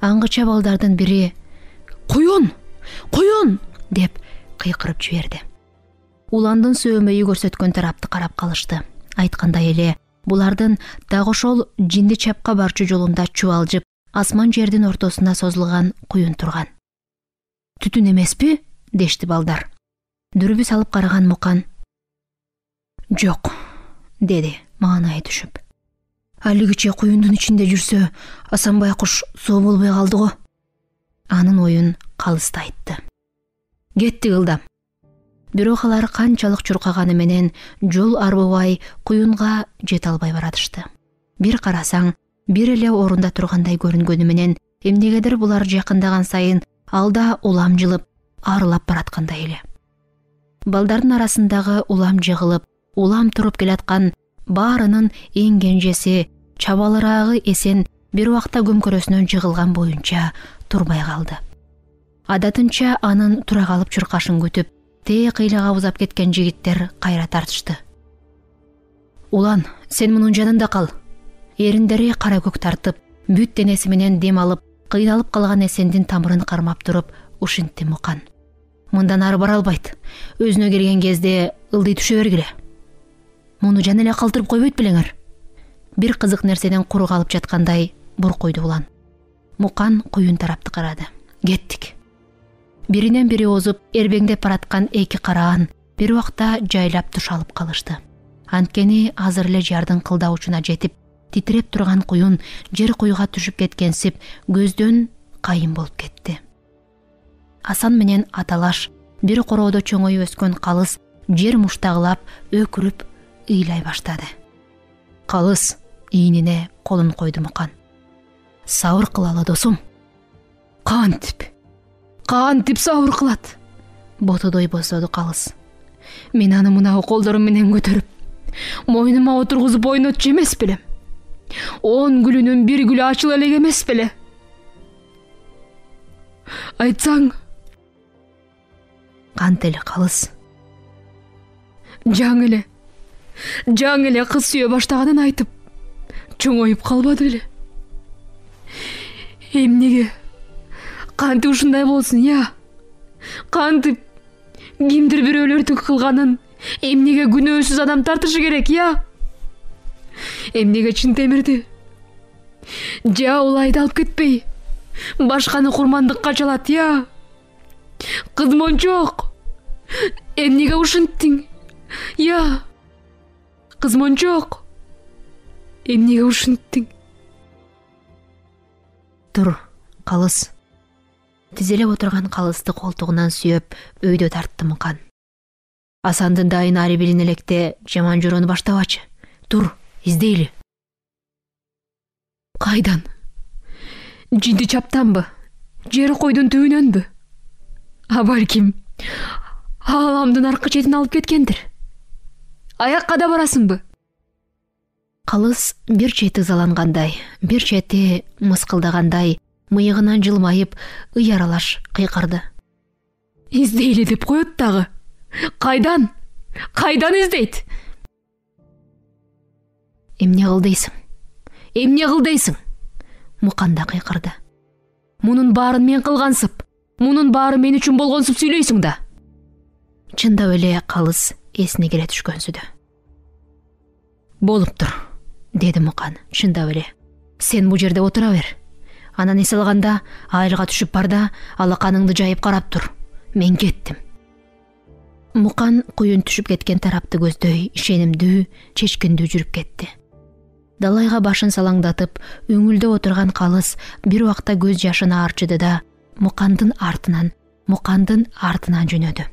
Аңгыча балдардын бири «Куюн! Куюн!» деп кыйкырып жиберди. Уландын сөөмөйү көрсөткөн тарапты карап калышты. Айткандай эле, булардын так ошол жинди чапка барчу жолунда чубалжып, асман жердин ортосуна созулган куюн турган. Түтүн эмеспи? Дешти балдар. Дүрбү салып караган Мукан. Жок, деди маанайы түшүп. Алигиче куюндун ичинде жүрсө, Асан байкуш соо болбой калды го. Анын оюн Калыс айтты. Кетти ылдам. Бирок алар канчалык чуркаганы менен жол арбыбай куюнга жете албай баратышты. Бир карасаң, бир эле орунда тургандай көрүнгөнү менен эмнегедир булар жакындаган сайын алда улам жылып, арылап бараткандай эле. Балдардын арасындагы улам жыгылып, улам туруп келаткан баарынын эң кенжеси, чабалыраагы эсен бир убакта көмкөрөсүнөн жыгылган боюнча турбай калды. Адатынча анын тура калып чуркашын күтүп, тээ кыйлага узап кеткен жигиттер кайра тартышты. Улан, сен мунун жанында кал. Эриндери кара көк тартып, бүт денеси менен дем алып, кыйналып калган эсендин тамырын кармап туруп ушинтти Мукан. Мындан ары бара албайт. Өзүнө келген кезде ылдый түшө бергиле. Муну жан эле калтырып койбойт белеңер. Бир кызык нерседен куру калып жаткандай буркуйду улан. Мукан куюн тарапты карады. Кеттик. Биринен бири озуп, эрбеңдеп бараткан эки караан бир убакта жайлап туш алып калышты. Анткени азыр эле жардын кылдаучуна жетип, титиреп турган куюн жер куюга түшүп кеткенсип көздөн кайын болуп кетти. Асан менен аталаш бир короодо чоңоюп өскөн Калыс жер муштагылап, өкүрүп, ыйлай баштады. Калыс ийнине колун койду Мукан. Сабыр кылалы, досум. Кантип? Кантип сабыр кылат? Ботодой босоду Калыс. Мен аны мына колдорум менен көтөрүп, мойнума отургузуп ойнотчу эмес белем. Он гүлүнүн бир гүлү ачыла элек эмес беле? Айтсаң, кант эле Калыс. Жаң эле, жаң эле кыз сүйө баштаганын айтып, чоңоюп калбады беле? Эмнеге? Кантип ушундай болсун, я? Кантип кимдир бирөөлөрдүн кылганын эмнеге күнөөсүз адам тартышы керек, я? Эмнеге Чынтемирди жа улайды алып кетпей, башканы курмандыкка чалат, я? Кызмончок, эмнеге ушинттиң, я? Кызмончок, эмнеге ушинттиң? Тур, Калыс. Тизелеп отурган Калысты колтугунан сүйөп, өйдө тартты Мукан. Асандын дайын ари билин электе жаман жорону баштабачы. Тур, издейли. Кайдан? Жинди чаптанбы? Жер койдун түбүнөнбү? А балким Ааламдын аркы четин алып кеткендир. Аякка да барасыңбы? Калыс бир чети ызалангандай, бир чети мыскылдагандай, мыйыгынан жылмайып, ыяралаш кыйкырды. Издейли деп коет дагы. Кайдан? Кайдан издейт? Эмне кыл дейсиң? Эмне кыл дейсиң? Мукан да кыйкырды. Мунун баарын мен кылгансып, мунун баары мен үчүн болгонсуп сүйлөйсүң да. Чындап эле Калыс эсине келе түшкөнсүдө. Болуптур, деди Мукан. Чындап эле. Сен бул жерде отура бер. Анан эс алганда айылга түшүп бар да, алаканыңды жайып карап тур. Мен кеттим. Мукан куюн түшүп кеткен тарапты көздөй, ишенимдүү, чечкиндүү жүрүп кетти. Далайга башын салаңдатып, өңүлдө отурган Калыс бир убакта көз жашына арчыды да, Мукандын артынан, Мукандын артынан жөнөдү.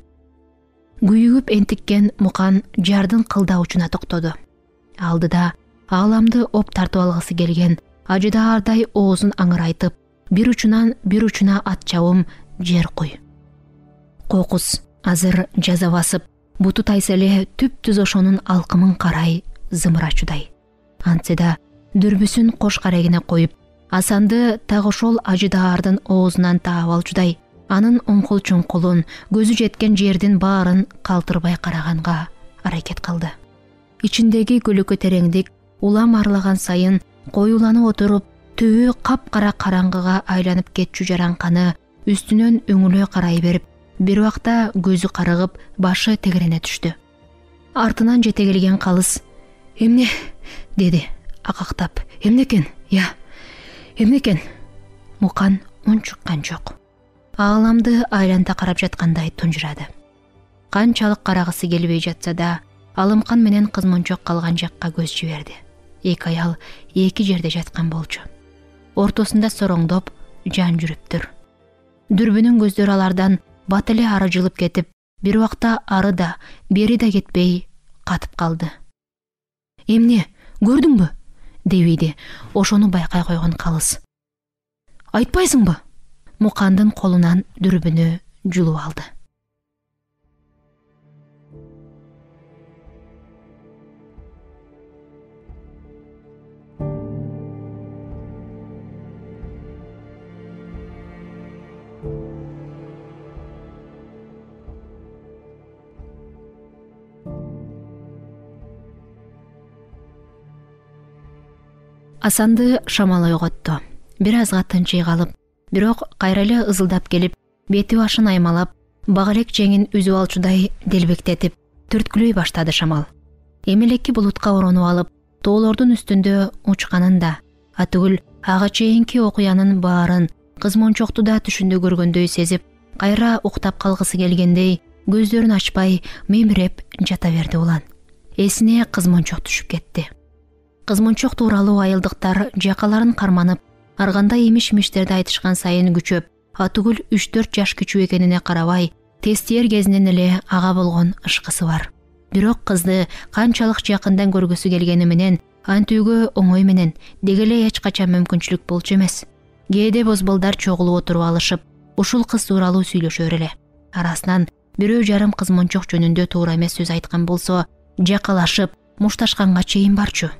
Күйүгүп энтиккен Мукан жардын кылда учуна токтоду. Алдыда ааламды оп тартып алгысы келген ажыдаардай оозун аңырайтып, бир учунан бир учуна ат чабым жер куй. Кокус азыр жаза басып, буту тайса эле түп-түз ошонун алкымын карай зымырачудай. Антсе да дүрбүсүн кош карегине коюп, Асанды так ошол ажыдаардын оозунан таап алчудай, анын оңкул-чоңкулун, көзү жеткен жердин баарын калтырбай караганга аракет кылды. Ичиндеги көлөкө тереңдик улам арылаган сайын коюланып отуруп, түбү капкара караңгыга айланып кетчү жараңканы үстүнөн өңүлө карай берип, бир убакта көзү карыгып, башы тегерене түштү. Артынан жете келген Калыс: "Эмне?" деди акактап. "Эмнекен? Я, эмнекен?" Мукан унчуккан жок. Ааламды айланта карап жаткандай тунжурады. Канчалык карагысы келбей жатса да, Алымкан менен кызмончок калган жакка көз жиберди. Эки аял эки жерде жаткан болчу. Ортосунда сороңдоп жан жүрүптүр. Дүрбүнүн көздөрү алардан бат эле ары жылып кетип, бир убакта ары да, бери да кетпей катып калды. "Эмне, көрдүңбү?" дебиди ошону байкай койгон Калыс. "Айтпайсыңбы?" Мукандын колунан дүрбүнү жулуп алды. Асанды шамал ойготту. Бир азга тынчый калып, бирок кайра эле ызылдап келип, бети башын аймалап, бак элек жеңин үзүп алчудай делбектетип, түрткүлөй баштады шамал. Эмелекки булутка оронуп алып, тоолордун үстүндө учканын да, атүгүл ага чейинки окуянын баарын кызмончокту да түшүндө көргөндөй сезип, кайра уктап калгысы келгендей, көздөрүн ачпай мемиреп жата берди улан. Эсине кызмончок түшүп кетти. Кызмончок тууралуу айылдыктар жакаларын карманып, аргандай имиш-имиштерди айтышкан сайын күчөп, атүгүл үч төрт жаш күчүү экенине карабай, тестиер кезинен эле ага болгон ышкысы бар. Бирок кызды канчалык жакындан көргүсү келгени менен, антүүгө оңой менен дегеле эч качан мүмкүнчүлүк болчу эмес. Кээде бозбалдар чогулуп отуруп алышып, ушул кыз тууралуу сүйлөшөр эле. Арасынан бирөө жарым кызмончок жөнүндө туура эмес сөз айткан болсо, жакалашып, мушташканга чейин барчу.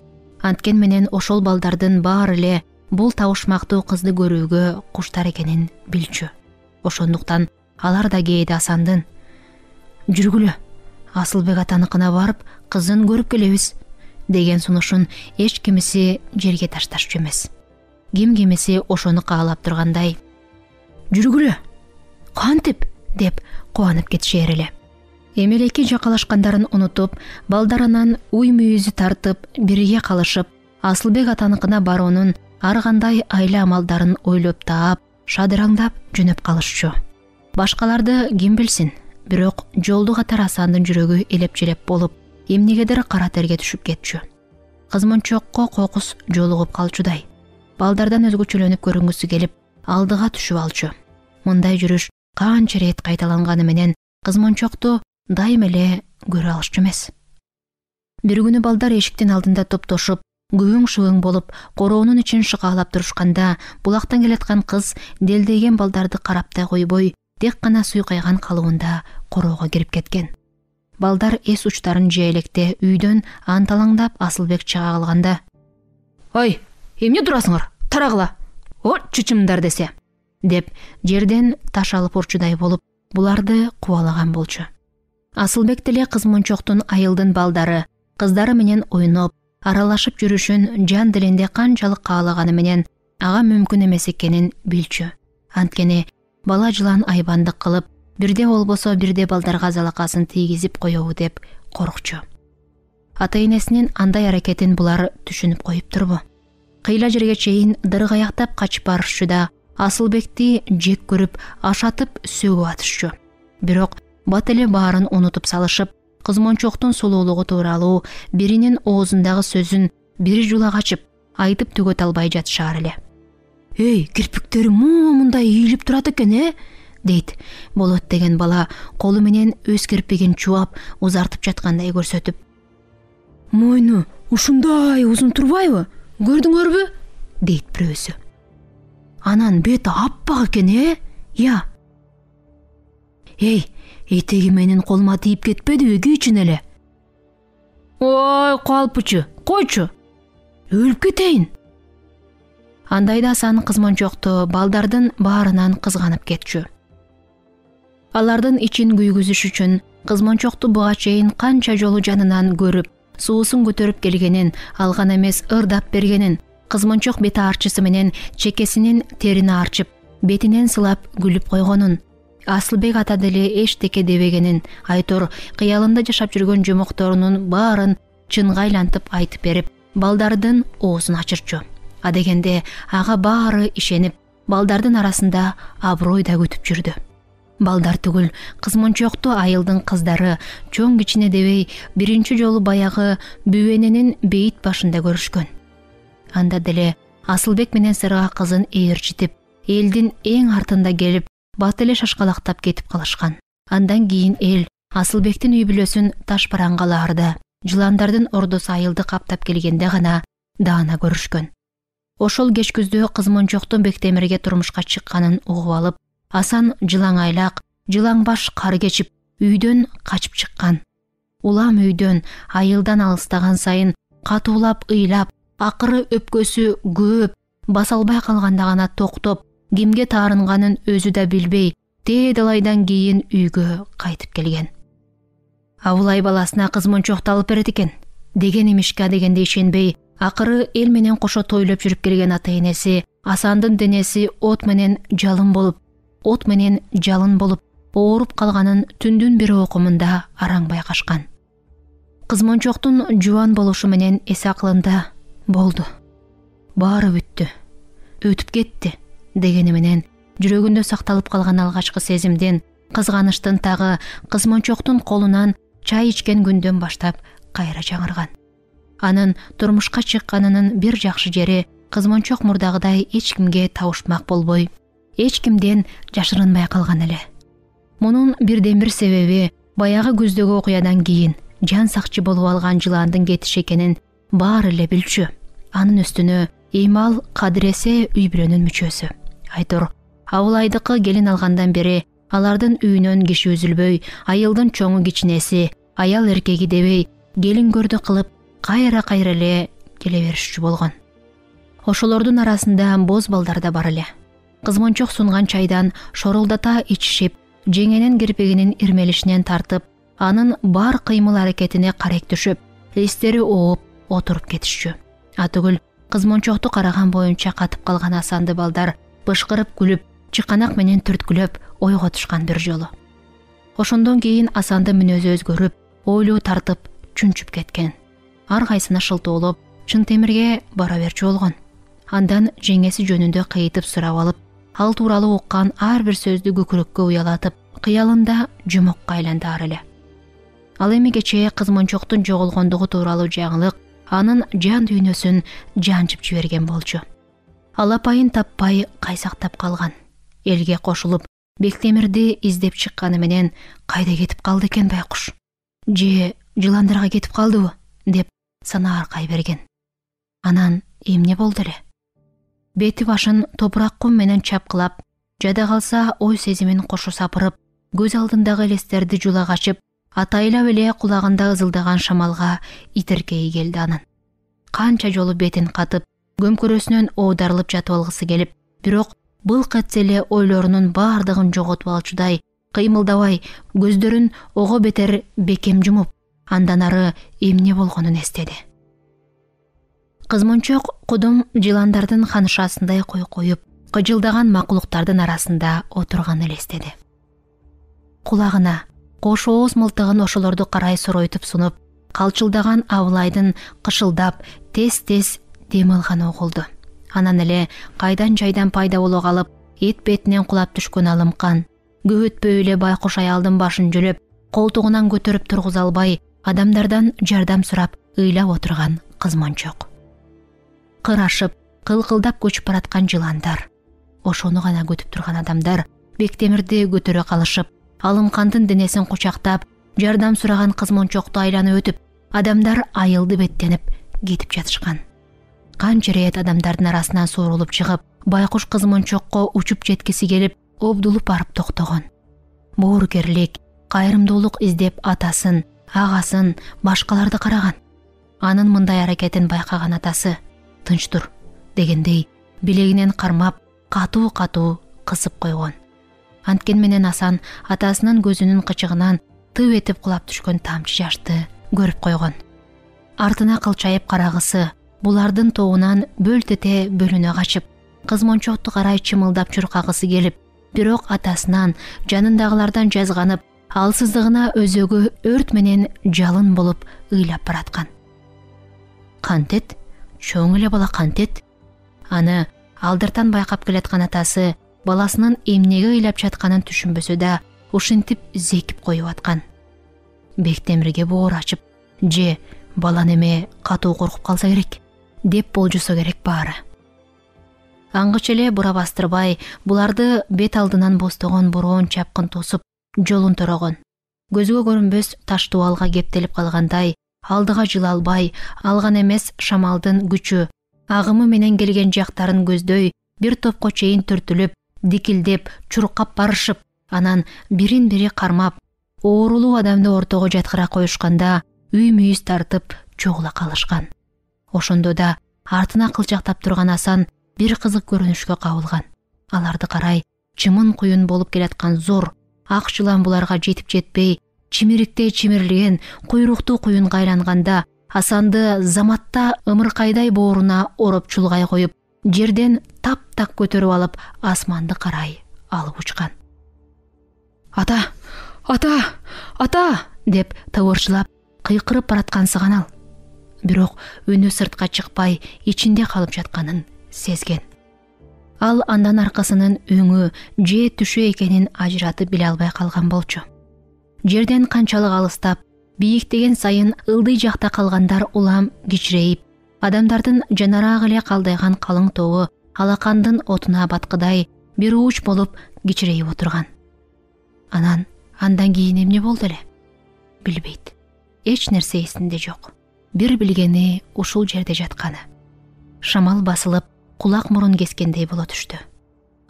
Анткен менен ошол балдардын баары эле бул табышмактуу кызды көрүүгө куштар экенин билчү. Ошондуктан алар да кээде Асандын "Жүргүлө, Асылбек атаныкына барып, кызын көрүп келебиз" деген сунушун эч кимиси жерге ташташчу эмес. Ким кимиси ошону каалап тургандай: "Жүргүлө, кантип?" деп кубанып кетишер эле. Эмелеки жакалашкандарын унутуп, балдар анан уй мүйүзү тартып, бирге калышып, Асылбек атаныкына баруунун ар кандай айла амалдарын ойлоп таап, шадыраңдап жөнөп калышчу. Башкаларды ким билсин, бирок жолду катар Асандын жүрөгү элеп-желеп болуп, эмнегедир кара терге түшүп кетчү. Кызмончокко кокус жолугуп калчудай. Балдардан өзгөчөлөнүп көрүнгүсү келип, алдыга түшүп алчу. Мындай жүрүш канча рет кайталанганы менен кызмончокту дайым эле көрө алышчу эмес. Бир күнү балдар эшиктин алдында топтошуп, күбүң-шүбүң болуп, короонун ичин шыкаалап турушканда, булактан келаткан кыз делдейген балдарды карап да койбой, тек гана суйкайган калыбында короого кирип кеткен. Балдар эс учтарын жыя электе үйдөн анталаңдап Асылбек чыга калганда: «Ой, эмне турасыңар? Тарагыла! О, чычымдар десе!» деп жерден таш алып урчудай болуп буларды кубалаган болчу. Асылбек деле кыз-мончоктун айылдын балдары, кыздары менен ойноп, аралашып жүрүшүн жан делинде канчалык каалаганы менен ага мүмкүн эмес экенин билчү. Анткени бала жылан айбандык кылып, бирде болбосо бирде балдарга залакасын тийгизип коебу деп коркчу. Ата-энесинин андай аракетин булар түшүнүп коюптурбу? Кыйла жерге чейин дыргаяктап качып барышчу да Асылбекти жек көрүп, ашатып сөгүп атышчу. Бирок бат эле баарын унутуп салышып, кыз-мончоктун сулуулугу тууралуу биринин оозундагы сөзүн бири жула качып, айтып түгөт албай жатышаар эле. «Эй, кирпиктери мындай ийилип турат экен, э?» дейт Болот деген бала колу менен өз кирпигин чубап, узартып жаткандай көрсөтүп. «Мойну ушундай узун турбайбы? Көрдүңөрбү?» дейт бирөөсү. «Анан бети аппак экен, э? Я. Эй, этеги менин колума тийип кетпедиби кийчүн эле?» «Ой, калпычы, койчу. Өлүп кетейин». Андайда Асан кыз-мончокту балдардын баарынан кызганып кетчү. Алардын ичин күйгүзүш үчүн кыз-мончокту буга чейин канча жолу жанынан көрүп, суусун көтөрүп келгенин, алган эмес ырдап бергенин, кыз-мончок бети арчысы менен чекесинин терини арчып, бетинен сылап күлүп койгонун, Асылбек ата деле эчтеке дебегенин, айтор кыялында жашап жүргөн жомокторунун баарын чынга айлантып айтып берип, балдардын оозун ачырчу. Адегенде ага баары ишенип, балдардын арасында аброй да күтүп жүрдү. Балдар түгүл, кыз-мончокту айылдын кыздары чоң кичине дебей биринчи жолу баягы бүбөненин бейит башында көрүшкөн. Анда деле Асылбек менен Сырга кызын ээрчитип, элдин эң артында келип, бат эле шашкалактап кетип калышкан. Андан кийин эл Асылбектин үй бүлөсүн таш параңгалаарда, жыландардын ордосу айылды каптап келгенде гана даана көрүшкөн. Ошол кеч күздө кыз-мончоктун Бектемирге турмушка чыкканын угуп алып, Асан жылаңайлак, жылаңбаш кар кечип, үйдөн качып чыккан. Улам үйдөн, айылдан алыстаган сайын катуулап ыйлап, акыры өпкөсү көп, баса албай калганда гана токтоп, кимге таарынганын өзү да билбей, тээ далайдан кийин үйгө кайтып келген. Абылай баласына кыз-мончокту алып берет экен деген имишке дегенде ишенбей, акыры эл менен кошо тойлоп жүрүп келген ата-энеси Асандын денеси от менен жалын болуп, от менен жалын болуп, ооруп калганын түндүн бир окумунда араң байкашкан. Кыз-мончоктун жубан болушу менен эс акылында болду, баары бүттү, өтүп кетти дегени менен жүрөгүндө сакталып калган алгачкы сезимден, кызганычтын тагы кыз-мончоктун колунан чай ичкен күндөн баштап кайра жаңырган. Анын турмушка чыкканынын бир жакшы жери кыз-мончок мурдагыдай эч кимге табышмак болбой, эч кимден жашырынбай калган эле. Мунун бирден бир себеби баягы күздөгү окуядан кийин жан сакчы болуп алган жыландын кетиши экенин баары эле билчү. Анын үстүнө Эймал Кадыресе үй бүлөнүн мүчөсү. Айтор Абылайдыкы келин алгандан бери алардын үйүнөн киши үзүлбөй, айылдын чоңу кичинеси, аял эркеги дебей, келин көрдү кылып кайра-кайра эле келе беришчү болгон. Ошолордун арасында боз балдар да бар эле. Кыз-мончок сунган чайдан шорулдата ичишип, жеңенин кирпигинин ирмелишинен тартып, анын бар кыймыл аракетине карек түшүп, эстери ооп отуруп кетишчү. Атүгүл кыз-мончокту караган боюнча катып калган Асанды балдар бышкырып күлүп, чыканак менен түрткүлөп ойго тушкан бир жолу. Ошондон кийин Асандын мүнөзү өзгөрүп, ойлуу тартып, чүнчүп кеткен. Ар кайсына шылтоолоп, чын темирге бара берчү болгон. Андан жеңеси жөнүндө кыйытып сурап алып, ал тууралуу уккан ар бир сөздү көкүрөккө уялатып, кыялында жомокко айландар эле. Ал эми кечээ кыз-мончоктун жоголгондугу тууралуу жаңылык анын жан дүйнөсүн жанчып жиберген болчу. Алапайын таппай кайсактап калган. Элге кошулуп, Бектемирди издеп чыкканы менен кайда кетип калды экен байкуш? Же жыландарга кетип калдыбы деп сана аркай берген. Анан эмне болду эле? Бети башын топурак кум менен чапкылап, жада калса ой сезимин кошо сапырып, көз алдындагы элестерди жула качып, атайлап эле кулагында ызылдаган шамалга итиркеи келди анын. Канча жолу бетин катып, көмкөрөсүнөн оодарылып жатып алгысы келип, бирок былк этсе эле ойлорунун баардыгын жоготуп алчудай кыймылдабай, көздөрүн ого бетер бекем жумуп, андан ары эмне болгонун эстеди. Кызмончок кудум жыландардын ханышасындай кой коюп, кыжылдаган макулуктардын арасында отурганын элестеди. Кулагына кош ооз мылтыгын ошолорду карай соройтуп сунуп, калчылдаган Абылайдын кышылдап тез-тез дем алганы угулду. Анан эле кайдан жайдан пайда боло калып, эт бетинен кулап түшкөн алымкан, көп өтпөй эле байкуш аялдын башын жөлөп, колтугунан көтөрүп тургуза албай, адамдардан жардам сурап ыйлап отурган кызмончок. Кырашып, кылкылдап көчүп бараткан жыландар, ошону гана күтүп турган адамдар Бектемирди көтөрө калышып, алымкандын денесин кучактап, жардам сураган кызмончокту айланып өтүп, адамдар айылды беттенип кетип жатышкан. Канча рет адамдардын арасынан суурулуп чыгып, байкуш кызмончокко учуп жеткиси келип, обдулуп барып токтогон. Боорукерлик, кайрымдуулук издеп атасын, агасын, башкаларды караган. Анын мындай аракетин байкаган атасы «Тынч тур» дегендей билегинен кармап, катуу-катуу кысып койгон. Анткен менен Асан атасынын көзүнүн кычыгынан тып этип кулап түшкөн тамчы жашты көрүп койгон. Артына кылчайып карагысы, булардын тобунан бөлтете бөлүнө качып, кызмончокту карай чымылдап чуркагысы келип, бирок атасынан, жанындагылардан жазганып, алсыздыгына өзөгү өрт менен жалын болуп ыйлап бараткан. Кантет, чоң эле бала кантет. Аны алдыртан байкап келаткан атасы баласынын эмнеге ыйлап жатканын түшүнбөсө да, ушинтип зекип коюп аткан. Бектемирге боор ачып, же бала неме катуу коркуп калса керек деп болжусо керек баары. Аңгыч эле бура бастырбай, буларды бет алдынан бостогон бороон чапкын тосуп, жолун торогон. Көзгө көрүнбөс таш дубалга кептелип калгандай, алдыга жыла албай, алган эмес шамалдын күчү, агымы менен келген жактарын көздөй, бир топко чейин түртүлүп, дикилдеп, чуркап барышып, анан бирин-бири кармап, оорулуу адамды ортого жаткыра коюшканда, үй-мүйүз тартып чогула калышкан. Ошондо да артына кылчактап турган Асан бир кызык көрүнүшкө кабылган. Аларды карай чымын куюн болуп келаткан зор ак жылан буларга жетип жетпей, чимириктей чимирилген куйруктуу куюнга айланганда, Асанды заматта ымыркайдай бооруна ороп чулгай коюп, жерден таптак көтөрүп алып, асманды карай алып учкан. «Ата! Ата! Ата!» деп табырчылап, кыйкырып бараткансыган ал. Бирок үнү сыртка чыкпай, ичинде калып жатканын сезген. Ал андан аркасынын өңү же түшү экенин ажыратып биле албай калган болчу. Жерден канчалык алыстап, бийиктеген сайын ылдый жакта калгандар улам кичирейип, адамдардын жанарак эле калдайган калың тобу алакандын отуна баткыдай бир ууч болуп кичирейип отурган. Анан андан кийин эмне болду эле? Билбейт. Эч нерсе эсинде жок. Бир билгени ушул жерде жатканы. Шамал басылып, кулак мурун кескендей боло түштү.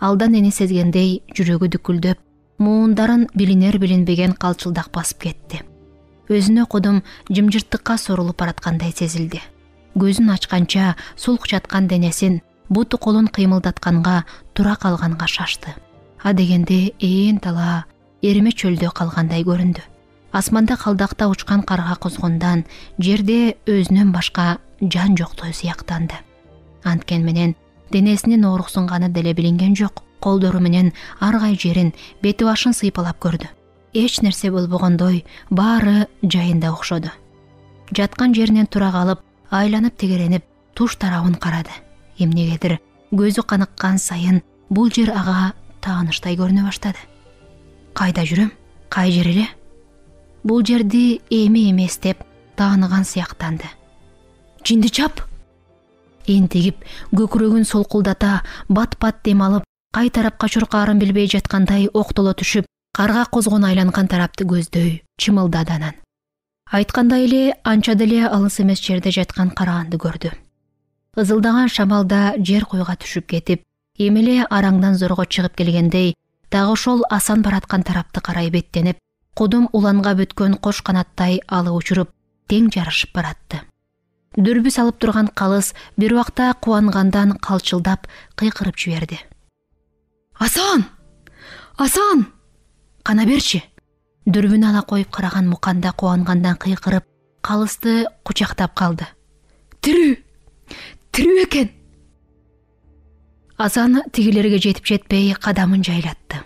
Алдан эни сезгендей жүрөгү дүкүлдөп, муундарын билинер билинбеген калчылдак басып кетти. Өзүнө кудум жымжырттыкка сорулуп бараткандай сезилди. Көзүн ачканча сулк жаткан денесин буту колун кыймылдатканга, тура калганга шашты. А дегенде ээн тала эриме чөлдө калгандай көрүндү. Асманда калдакта учкан карга козгондан жерде өзүнөн башка жан жоктой сыяктанды. Анткен менен денесинин ооруксунганы деле билинген жок. Колдору менен ар кай жерин, бети башын сыйпалап көрдү. Эч нерсе болбогондой, баары жайында окшоду. Жаткан жеринен тура калып, айланып тегеренип, туш тарабын карады. Эмнегедир көзү каныккан сайын бул жер ага тааныштай көрүнө баштады. Кайда жүрөм? Кай жер эле? Бул жерди эми эмес деп тааныган сыяктанды. Жинди чап! Энтигип, көкүрөгүн солкулдата, бат-бат дем алып, кай тарапка чуркаарын билбей жаткандай октоло түшүп, карга козгон айланган тарапты көздөй чымылдады анан. Айткандай эле анча деле алыс эмес жерде жаткан караганды көрдү. Ызылдаган шамалда жер куйга түшүп кетип, эми эле араңдан зорго чыгып келгендей дагы ошол Асан бараткан тарапты карай беттенип, кудум уланга бүткөн кош канаттай алып учуруп, тең жарышып баратты. Дүрбү салып турган калыс бир убакта кубангандан калчылдап кыйкырып жиберди. Асан! Асан! Кана берчи! Дүрбүн ала коюп караган Муканда кубангандан кыйкырып, калысты кучактап калды. Тирүү! Тирүү экен! Асан тигилерге жетип жетпей кадамын жайлатты.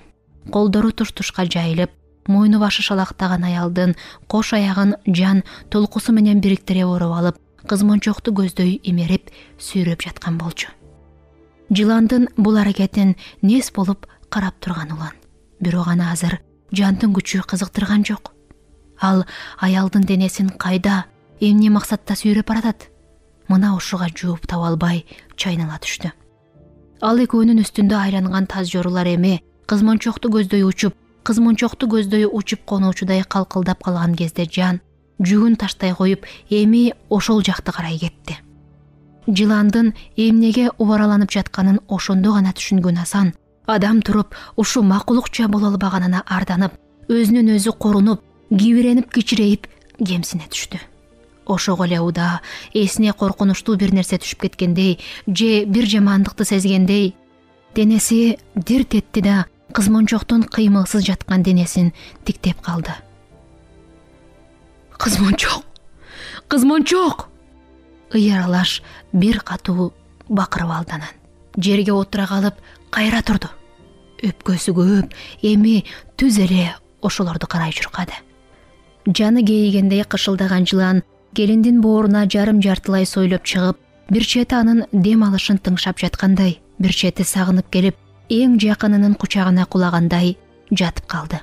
Колдору туш-тушка жайылып, мойну башы шалактаган аялдын кош аягын жан толкусу менен бириктире оруп алып, кызмончокту көздөй имерип, сүйрөп жаткан болчу. Жыландын бул аракетин нес болуп карап турган улан. Бирок аны азыр жандын күчү кызыктырган жок. Ал аялдын денесин кайда, эмне максатта сүйрөп баратат? Мына ушуга жууп таба албай чайнала түштү. Ал экөөнүн үстүндө айланган таз жорулар эми кызмончокту көздөй учуп, кызмончокту көздөй учуп конуучудай калкылдап калган кезде жан жүгүн таштай коюп, эми ошол жакты карай кетти. Жыландын эмнеге убараланып жатканын ошондо гана түшүнгөн Асан, адам туруп, ушу макулукча боло албаганына арданып, өзүнөн өзү корунуп, кибиренип кичирейип кемсине түштү. Ошого эле уда эсине коркунучтуу бир нерсе түшүп кеткендей, же бир жамандыкты сезгендей, денеси дирт этти да кызмончоктун кыймылсыз жаткан денесин тиктеп калды. Кызмончок! Кызмончок! Ыяралаш бир катуу бакырып алды анан. Жерге отура калып, кайра турду. Өпкөсү көп, эми түз эле ошолорду карай чуркады. Жаны кейигендей кышылдаган жылан келиндин бооруна жарым жартылай сойлоп чыгып, бир чети анын дем алышын тыңшап жаткандай, бир чети сагынып келип, эң жакынынын кучагына кулагандай жатып калды.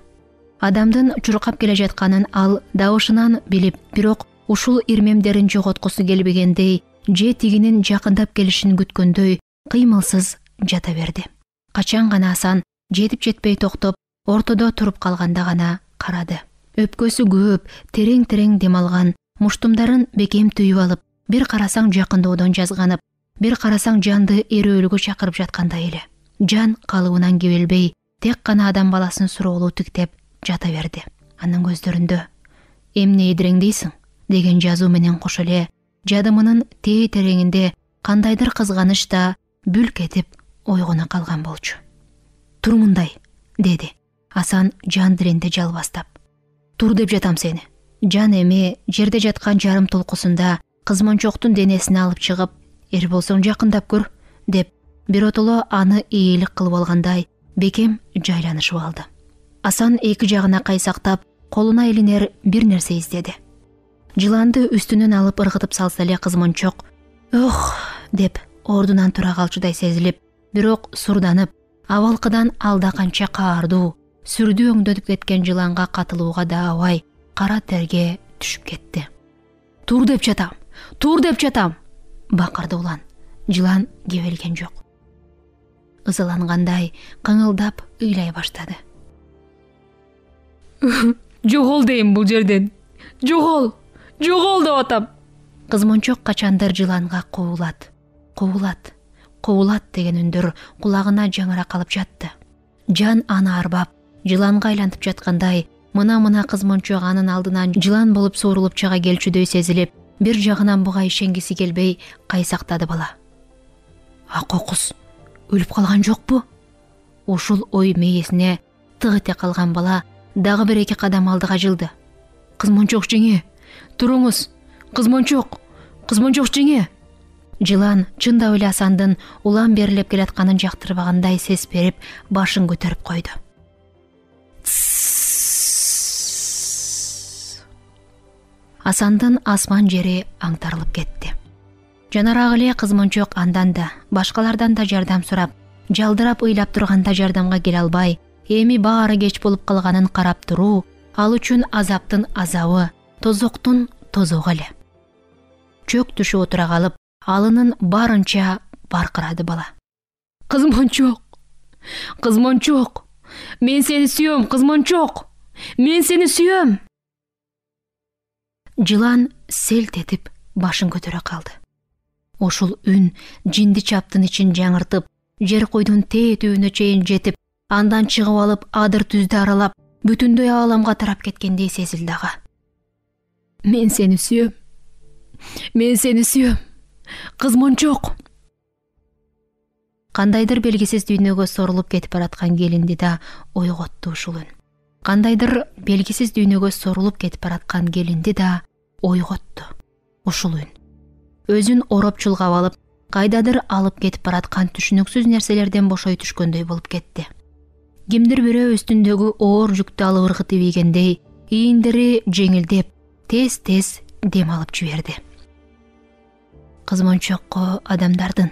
Адамдын чуркап келе жатканын ал дабышынан билип, бирок ушул ирмемдерин жоготкусу келбегендей, же тигинин жакындап келишин күткөндөй кыймылсыз жата берди. Качан гана Асан жетип жетпей токтоп, ортодо туруп калганда гана карады. Өпкөсү көп, терең-терең дем алган, муштумдарын бекем түйүп алып, бир карасаң жакынdoодон жазганып, бир карасаң жанды эрөөлгө чакырып жаткандай эле. Жан калыбынан кебелбей, тек гана адам баласын суроолуу тиктеп жата берди. Анын көздөрүндө эмне идиреңдейсиң деген жазуу менен кошо эле жадымынын тээ тереңинде кандайдыр кызганыч да бүлк этип ойгоно калган болчу. Тур мындай, деди Асан жан диренде жалбастап. Тур деп жатам сени. Жан эми жерде жаткан жарым толкусунда кызмончоктун денесин алып чыгып, эр болсоң жакындап көр, деп биротоло аны ийгилик кылып алгандай бекем жайланышып алды. Асан эки жагына кайсактап, колуна илинер бир нерсе издеди. Жыланды үстүнөн алып ыргытып салса эле кызмончок «Ох!» деп ордунан тура калчудай сезилип, бирок сурданып, абалкыдан алда канча каардуу, сүрдүү өңдөтүп кеткен жыланга катылууга да абай кара терге түшүп кетти. «Тур деп жатам! Тур деп жатам!» бакырды улан. Жылан кебелген жок. Ызалангандай кыңылдап ыйлай баштады. «Жогол дейм бул жерден! Жогол! Жогол деп атам!» Кызмончок качандыр жыланга куулат, куулат, куулат деген үндөр кулагына жаңыра калып жатты. Жан аны арбап, жыланга айлантып жаткандай, мына-мына кызмончок анын алдынан жылан болуп суурулуп чыга келчүдөй сезилип, бир жагынан буга ишенгиси келбей кайсактады бала. Акокус өлүп калган жокпу? Ушул ой мээсине тык эте калган бала дагы бир эки кадам алдыга жылды. Кызмончок жеңе, туруңуз! Кызмончок! Кызмончок жеңе! Жылан чындап эле Асандын улам берилип келатканын жактырбагандай сес берип, башын көтөрүп койду. Асандын асман жери аңтарылып кетти. Жанарагы эле кызмончок андан да, башкалардан да жардам сурап, жалдырап ыйлап турганда жардамга келе албай, эми баары кеч болуп калганын карап туруу ал үчүн азаптын азабы, тозоктун тозогу эле. Чөк түшүп отура калып, алынын барынча баркырады бала. Кызмончок! Кызмончок! Мен сени сүйөм, кызмончок! Мен сени сүйөм! Жылан селт этип башын көтөрө калды. Ошол үн жинди чаптын ичин жаңыртып, жер куйдун тээ-түбүнө чейин жетип, андан чыгып алып адыр түздү аралап, бүтүндөй ааламга тарап кеткендей сезилди ага. Мен сени сүйөм. Мен сени сүйөм. Кыз Мончок. Кандайдыр белгисиз дүйнөгө сорулуп кетип бараткан келинди да ойготту ушул үн. Кандайдыр белгисиз дүйнөгө сорулуп кетип бараткан келинди да ойготту ушул үн. Өзүн ороп чулгап алып, кайдадыр алып кетип бараткан түшүнүксүз нерселерден бошой түшкөндөй болуп кетти. Кимдир бирөө үстүндөгү оор жүктү алып ыргытып ийгендей, ийиндери жеңилдеп, тез-тез дем алып жиберди. Кыз Мончокко адамдардын,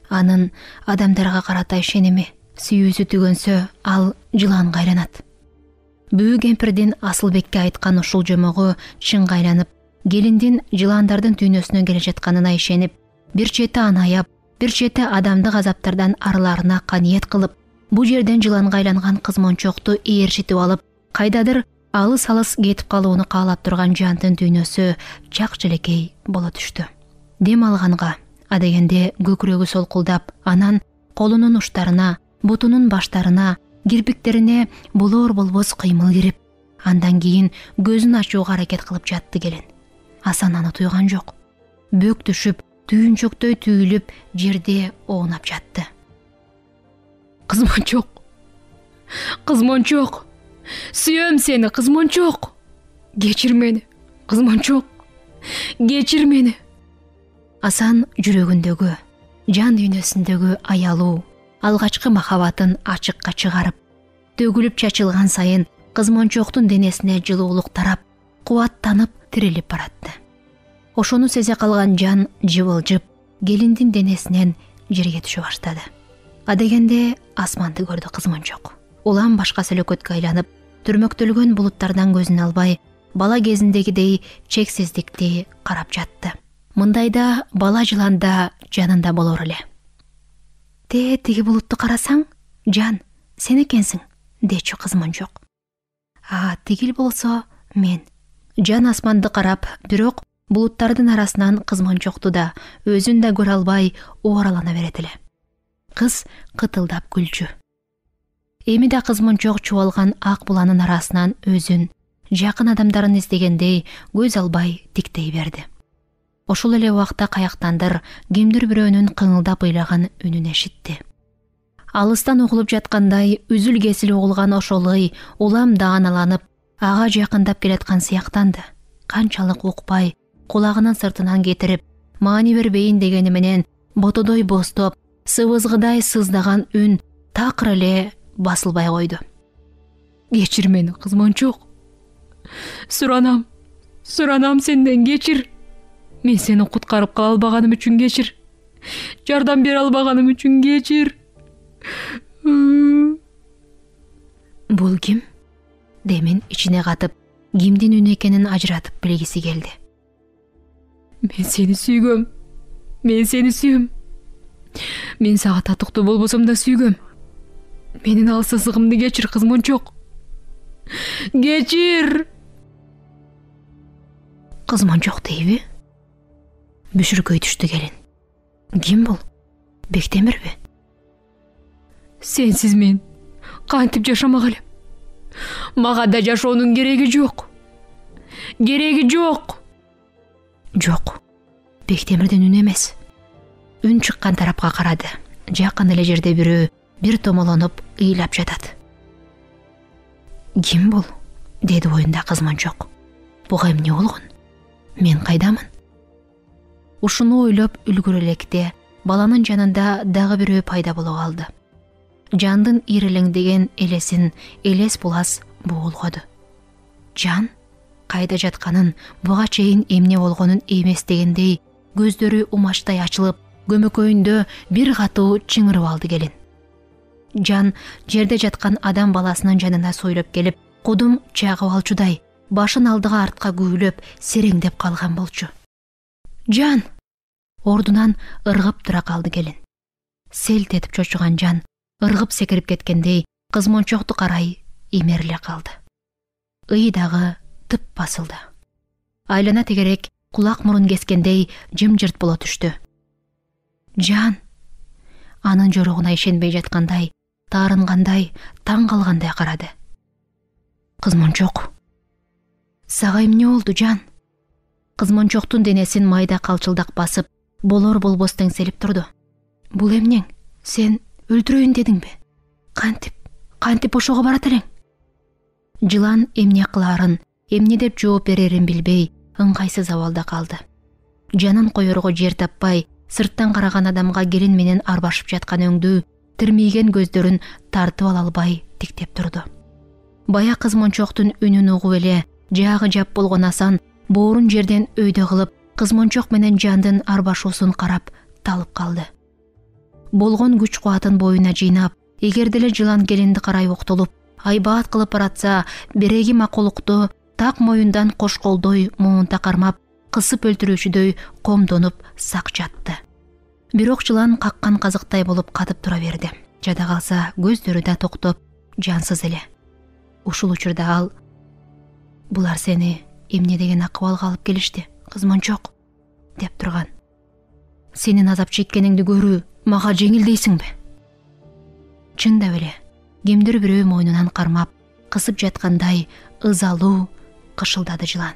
анын адамдарга карата ишеними, сүйүүсү түгөнсө, ал жыланга айланат. Бүү кемпирдин Асылбекке айткан ушул жомогу чынга айланып, келиндин жыландардын дүйнөсүнө келе жатканына ишенип, бир чети анаяп, бир чети адамдык азаптардан арылаарына каниет кылып, бу жерден жыланга айланган кыз Мончокту ээрчитип алып, кайдадыр алыс-алыс кетип калууну каалап турган жандын дүйнөсү чак-челекей боло түштү. Дем алганга, адегенде көкүрөгү солкулдап, анан колунун уштарына, бутунун баштарына, кирпиктерине болор-болбос кыймыл кирип, андан кийин көзүн ачууга аракет кылып жатты келин. Асан аны туйган жок. Бөк түшүп, түйүнчөктөй түйүлүп, жерде оонап жатты. Кыз Мончок. Кыз Мончок. Сүйөм сени, кыз Мончок. Кечир мени, кыз Мончок. Кечир мени. Асан жүрөгүндөгү, жан дүйнөсүндөгү аялуу, алгачкы махабатын ачыкка чыгарып, төгүлүп чачылган сайын кыз Мончоктун денесине жылуулук тарап, кубаттанып тирилип баратты. Ошону сезе калган жан жыбылжып, келиндин денесинен жерге түшө баштады. Адегенде асманды көрдү кыз Мончок. Улам башка сөлөкөткө айланып, түрмөктөлгөн булуттардан көзүн албай, бала кезиндегидей чексиздикти карап жатты. Мындайда бала жыланда жанында болор эле. Те тиги булутту карасаң, жан, сен экенсиң, дечү кыз Мончок. А тигил болсо мен. Жан асманды карап, бирок булуттардын арасынан кыз Мончокту да, өзүн да көрө албай ооралана берет эле. Кыз кытылдап күлчү. Эми да кыз Мончок чубалган ак буланын арасынан өзүн, жакын адамдарын издегендей көз албай тиктей берди. Ошол эле убакта каяктандыр кимдир бирөөнүн кыңылдап ыйлаган үнүн эшитти. Алыстан угулуп жаткандай үзүл кесил угулган ошол ый улам дааналанып, ага жакындап келаткан сыяктанды. Канчалык укпай, кулагынын сыртынан кетирип, маани бербейин дегени менен ботодой бостоп, сыбызгыдай сыздаган үн такыр эле басылбай койду. Кечир мени, кыз Мончок. Суранам, суранам сенден кечир. Мен сени куткарып кала албаганым үчүн кечир. Жардам бере албаганым үчүн кечир. Бул ким? Демин ичине катып, кимдин үнү экенин ажыратып билгиси келди. Мен сени сүйгөм. Мен сени сүйөм. Мен сага татыктуу болбосом да сүйгөм. Менин алсыздыгымды кечир, кыз Мончок. Кечир. Кыз Мончок дейби? Бүшүркөй түштү келин. Ким бул? Бектемирби? Сенсиз мен кантип жашамак элем? Мага да жашоонун кереги жок. Кереги жок. Жок. Бектемирдин үнү эмес. Үн чыккан тарапка карады. Жакын эле жерде бирөө бир томолонуп ыйлап жатат. Ким бул? Деди оюнда кыз Мончок. Буга эмне болгон? Мен кайдамын? Ушуну ойлоп үлгүрө электе баланын жанында дагы бирөө пайда боло калды. Жандын ирелеңдеген элесин элес булас боолгоду. Жан кайда жатканын, буга чейин эмне болгонун эмес дегендей көздөрү умачтай ачылып, көмөкөйүндө бир катуу чыңырып алды келин. Жан жерде жаткан адам баласынын жанына сойлоп келип, кудум чагып алчудай, башын алдыга артка күүлөп, сереңдеп калган болчу. Жан! Ордунан ыргып тура калды келин. Селт этип чочуган жан, ыргып секирип кеткендей, кыз Мончокту карай имериле калды. Ый дагы тып басылды. Айлана тегерек кулак мурун кескендей жымжырт боло түштү. Жан! анын жоругуна ишенбей жаткандай, таарынгандай, таң калгандай карады. Кызмончок. Сага эмне болду, жан? Кызмончоктун денесин майда калчылдак басып, болор болбос теңселип турду. Бул эмнең? Сен өлтүрөйүн дедиңби? Кантип, кантип ошого барат элең? Жылан эмне кылаарын, эмне деп жооп берерин билбей, ыңгайсыз абалда калды. Жанын коерго жер таппай, сырттан караган адамга келин менен арбашып жаткан өңдүү, тирмийген көздөрүн тартып ала албай тиктеп турду. Бая кызмончоктун үнүн угуп эле, жаагы жап болгон Асан боорун жерден өйдө кылып, кызмончок менен жандын арбашуусун карап талып калды. Болгон күч кубатын боюна жыйнап, эгер деле жылан келинди карай октолуп, айбаат кылып баратса, береги макулукту так моюндан кош колдой муунта кармап, кысып өлтүрүүчүдөй комдонуп сак жатты. Бирок жылан каккан казыктай болуп катып тура берди. Жада калса көздөрү да токтоп, жансыз эле. Ушул учурда ал: "Булар сени эмне деген акыбалга алып келишти, кызмончок?" деп турган. "Сенин азап чеккениңди көрүү мага жеңил дейсиңби?" Чындап эле, кимдир бирөө мойнунан кармап, кысып жаткандай ызалуу кышылдады жылан.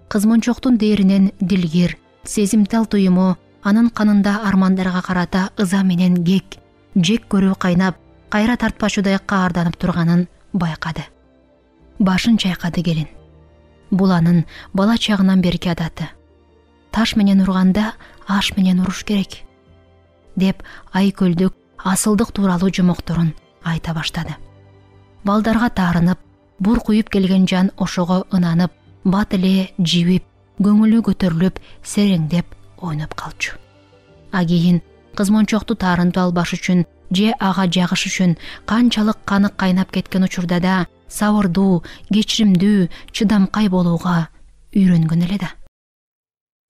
Кызмончоктун дээринен дилгир, сезимтал туюму анын канында армандарга карата ыза менен кек, жек көрүү кайнап, кайра тартпачудай каарданып турганын байкады. Башын чайкады келин. Бул анын бала чагынан берки адаты. Таш менен урганда аш менен уруш керек, деп айкөлдүк, асылдык тууралуу жомокторун айта баштады. Балдарга таарынып, бур куюп келген жан ошого ынанып, бат эле жибип, көңүлү көтөрүлүп, сереңдеп ойноп калчу. А кийин кызмончокту таарынтып албаш үчүн же ага жагыш үчүн канчалык каны кайнап кеткен учурда да сабырдуу, кечиримдүү, чыдамкай болууга үйрөнгөн эле да.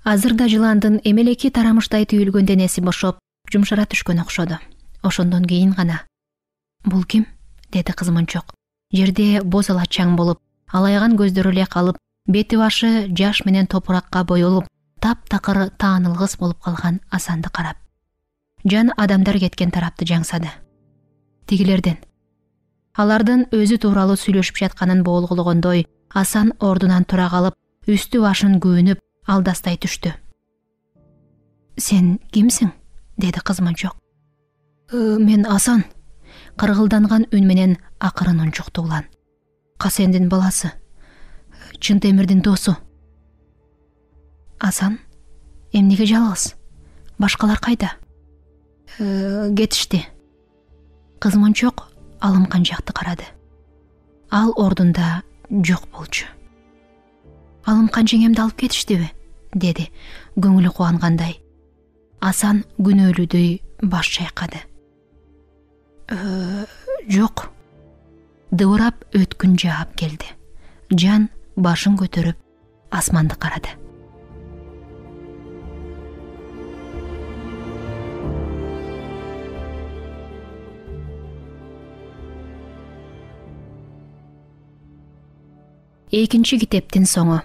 Азыр да жыландын эмелеки тарамыштай түйүлгөн денеси бошоп, жумшара түшкөн окшоду. Ошондон кийин гана: "Бул ким?" деди кызмончок. Жерде боз ала чаң болуп, алайган көздөрү эле калып, бети башы жаш менен топуракка боелуп, таптакыр таанылгыс болуп калган Асанды карап. Жан адамдар кеткен тарапты жаңсады. Тигилерден. Алардын өзү тууралуу сүйлөшүп жатканын болгологондой, Асан ордунан тура калып, үстү башын күүнүп, алдастай түштү. "Сен кимсиң?" деди кызмончок. "Мен Асан", кыргылданган үн менен акырын унчукту улан. "Касендин баласы, Чынтемирдин досу." "Асан, эмнеге жалгыз? Башкалар кайда?" "Кетишти." Кызмончок алымкан жакты карады. Ал ордунда жок болчу. "Алымкан жеңемди алып кетиштиби?" деди, көңүлү кубангандай. Асан күнөөлүүдөй баш чайкады. "Жок." Дыбырап өткүн жаап келди. Жан башын көтөрүп асманды карады. Экинчи китептин соңу.